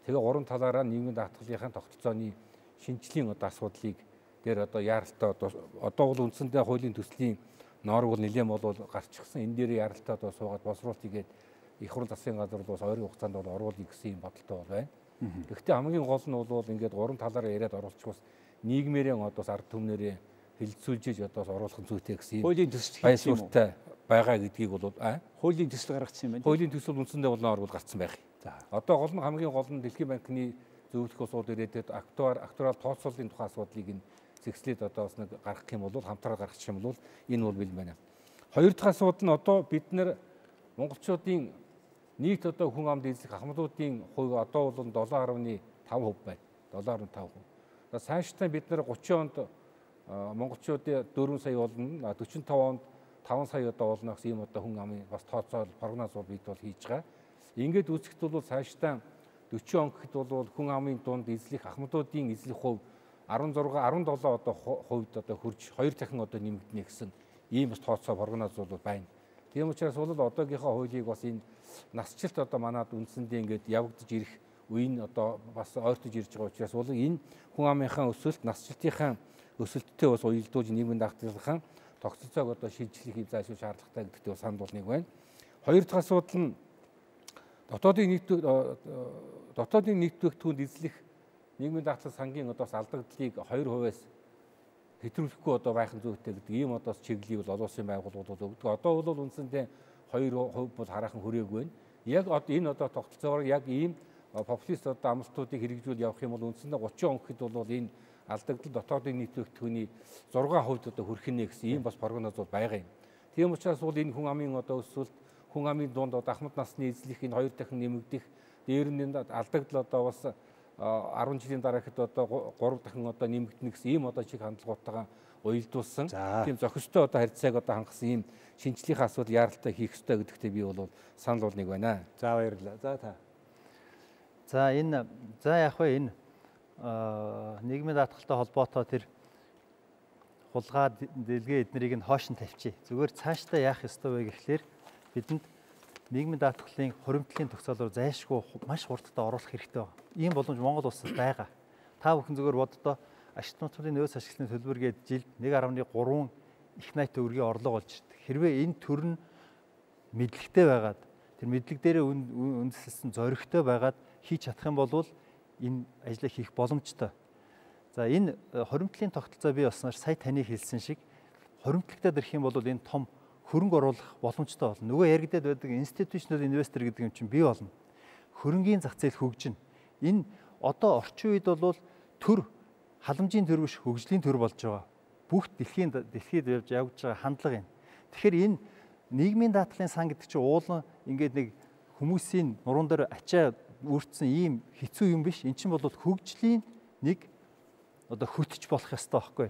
Speaker 2: Тэгээ гурван талаараа нийгмийн даатгалынхаа тогтолцооны шинжлэлийн одоо асуудлыг дээр одоо яаралтай одоо одоо бол үндсэндээ хуулийн төслийн норм бол нэлээд бол гарчихсан. Энэ дээр яаралтай одоо суугаад боловсруулалт хийгээд их хурл засгийн газар бол ойрын хугацаанд бол оруулъя гэсэн юм бодолтой бол байна. Гэхдээ хамгийн гол нь бол ингээд гурван талаараа яриад оруулчих бас нийгмээрээ одоо ард түмнэрээ хилцүүлж одоо оруулах нь зүйтэй гэсэн юм.
Speaker 1: Хуулийн төсөл
Speaker 2: байсуртай байгаа гэдгийг бол
Speaker 1: хуулийн төсөл гаргацсан юм байна.
Speaker 2: Хуулийн төсөл үндсэндээ бол норм гарсан байх. За одоо гол нь хамгийн гол нь Дэлхийн банкны зөвлөх усууд ирээдүйд актуар актуарал тооцооллын тухай асуудлыг нь зэгслээд одоо бас нэг гаргах юм бол хамтраад гаргачих юм бол энэ бол бил байна. Хоёр дахь асуудал нь одоо бид нэр монголчуудын нийт одоо хүн амд эзлэх ахмадуудын хувь одоо бол seven point five хувь байна. seven point five хувь. За цаашдаа бид нэр thirty онд монголчуудын four сая болно, forty-five онд five сая одоо болно гэсэн ийм одоо хүн амын бас тооцоол прогноз бол бид бол хийж байгаа. Ингээд үзэхэд бол цаашдаа forty он гэхэд бол хүн амын дунд эзлэх ахмадуудын эзлэх хувь sixteen seventeen одоо хувьд одоо хурж хоёр дахин одоо нэмэгдэнэ гэсэн ийм бас тооцоо прогноз бол байна. Тийм учраас бол одоогийнхоо хуулийг бас энэ насжилт одоо манад үндсэндээ ингээд явагдаж ирэх үе нь одоо бас ойртож ирж байгаа учраас бол энэ хүн амынхаа өсөлт, насжилтынхаа өсөлттэй бас уялдуулж нийгмийн даатгалынхаа тогтолцоог одоо шийдвэрлэх хэв зайлшгүй шаардлагатай гэдэгт бас санал бол нэг байна. Хоёр дахь асуудал нь дотоодын нийт дотоодын нийтвэгтүүнд эзлэх нийгмийн даатгал сангийн одоо алдагдлыг two хувиас хэтрүүлэхгүй одоо байх нь зүйтэй гэдэг ийм одоо чиглэлийг бол олон улсын байгууллагууд бол өгдөг. Одоо бол үндсэндээ two хувь бол хараахан хүрээгүй байна. Яг одоо энэ одоо тогтолцоогоор яг ийм популист одоо амлалтуудыг хэрэгжүүл явах юм бол үндсэндээ thirty он гэхэд бол энэ алдагдал дотоодын нийтвэгтүүний six хувьд одоо хүрэх нэ гэсэн ийм бас прогноз бол байгаа юм. Тийм учраас бол энэ хүн амын одоо өсвөлт, хүн амын дунд одоо ахмад насны эзлэх энэ хоёр дахин нэмэгдэх, дээр нь алдагдал одоо бас ten жилийн дараа хэд одоо three дахин одоо нэмэгдэнэ гэсэн ийм одоо чиг хандлагуудтайгаа уялдуулсан тийм зохистой одоо харьцааг одоо хангасан ийм шинжлэлийн асуудал яаралтай хийх ёстой гэдэгтээ би бол санал бол нэг байна.
Speaker 1: За баярлалаа. За та.
Speaker 3: За энэ за яг вэ энэ нийгмийн даатгалтай холбоотой тэр хулгай дэлгээ эднэрийг нь хоош нь тавьчих. Зүгээр цаашдаа яах ёстой вэ гэхлээр бидэнд нийгмийн даатгалын хуримтлалын төгсөөлөөр зайлшгүй маш хурдтай оруулах хэрэгтэй байна. Ийм боломж Монгол улсад байгаа. Та бүхэн зөвхөн боддоо ашигт нутгийн нөөц ашиглалтын төлбөр гээд жилд one point three их найт төгрөгийн орлого болж ирдэг. Хэрвээ энэ төр нь мэдлэгтэй байгаад тэр мэдлэг дээрээ үндэслэсэн зоригтой байгаад хийж чадах юм бол энэ ажлыг хийх боломжтой. За энэ хуримтлалын тогтолцоо бий болсноор сая таны хэлсэн шиг хуримтлагтад ирэх юм бол энэ том хөрөнгө оруулах боломжтой болно. Нөгөө яригдаад байдаг институционал инвестор гэдэг юм чинь бий болно. Хөрөнгийн зах зээл хөгжинэ. Энэ одоо орчин үед бол төр халамжийн төр биш хөгжлийн төр болж байгаа. Бүх дэлхийн дэлхийд явж явж байгаа хандлага юм. Тэгэхээр энэ нийгмийн даатгалын сан гэдэг чинь уулан ингээд нэг хүмүүсийн нуруунд дээр ачаа үүртсэн ийм хэцүү юм биш. Эн чинь бол хөгжлийн нэг одоо хөтж болох ёстой байхгүй.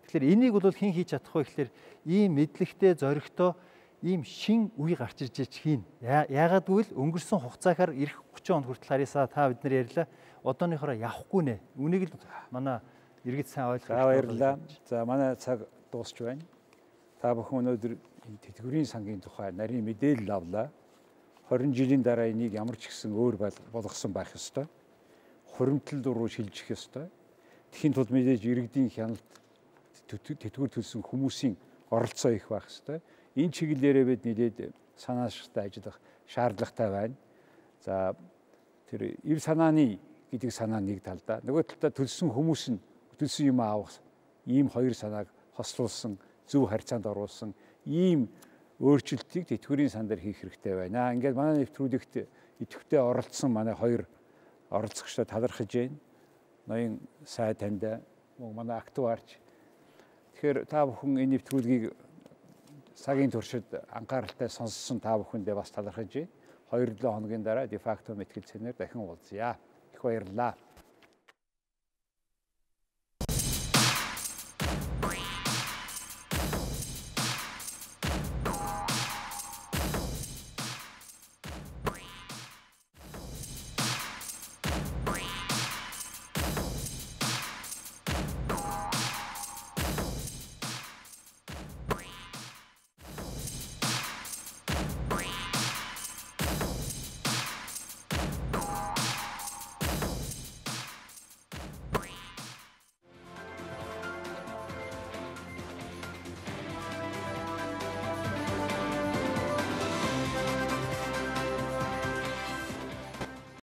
Speaker 3: Тэгэхээр энийг бол хэн хийж чадах вэ гэхээр ийм мэдлэгтэй зоригтой ийм шин үе гарч ирж байгаа хийн. Яагаад гэвэл өнгөрсөн хугацаагаар эх thirty онд хүртэл харьяасаа та бид нар ярьлаа. Одооныхороо явахгүй нэ. Үнийг л манай иргэд сайн ойлгох.
Speaker 1: За баярлалаа. За манай цаг дуусч байна. Та бүхэн өнөөдөр энэ тэтгэврийн сангийн тухай нарийн мэдээлэл авлаа. twenty жилийн дараа энийг ямар ч гэсэн өөр болгосон байх ёстой. Хуримтлал руу шилжих ёстой. Тэхийн тулд мэдээж иргэдийн хяналт тэтгэвэр төлсөн хүмүүсийн оролцоо их байх ёстой. Энэ чиглэлээрээ бид нэлээд санааштай ажиллах шаардлагатай байна. За тэр ив санааны гэдэг санаа нэг талдаа, нөгөө талдаа төлсөн хүмүүс нь төлсөн юм авах ийм хоёр санааг хослуулсан, зөв харьцаанд оруулсан ийм өөрчлөлтийг тэтгэврийн сан дээр хийх хэрэгтэй байна. Ингээд манай нэвтрүүлэгт идэвхтэй оролцсон манай хоёр оролцогчтой талархаж байна. Ноён сайн таньда манай актуарч. Тэгэхээр та бүхэн энэ нэвтрүүлгийг цагийн туршид анхааралтай сонссон та бүхэндээ бас талархаж байна. two seven хоногийн дараа де факто мэтгэл цэнээр дахин уулзъя. Их баярлалаа.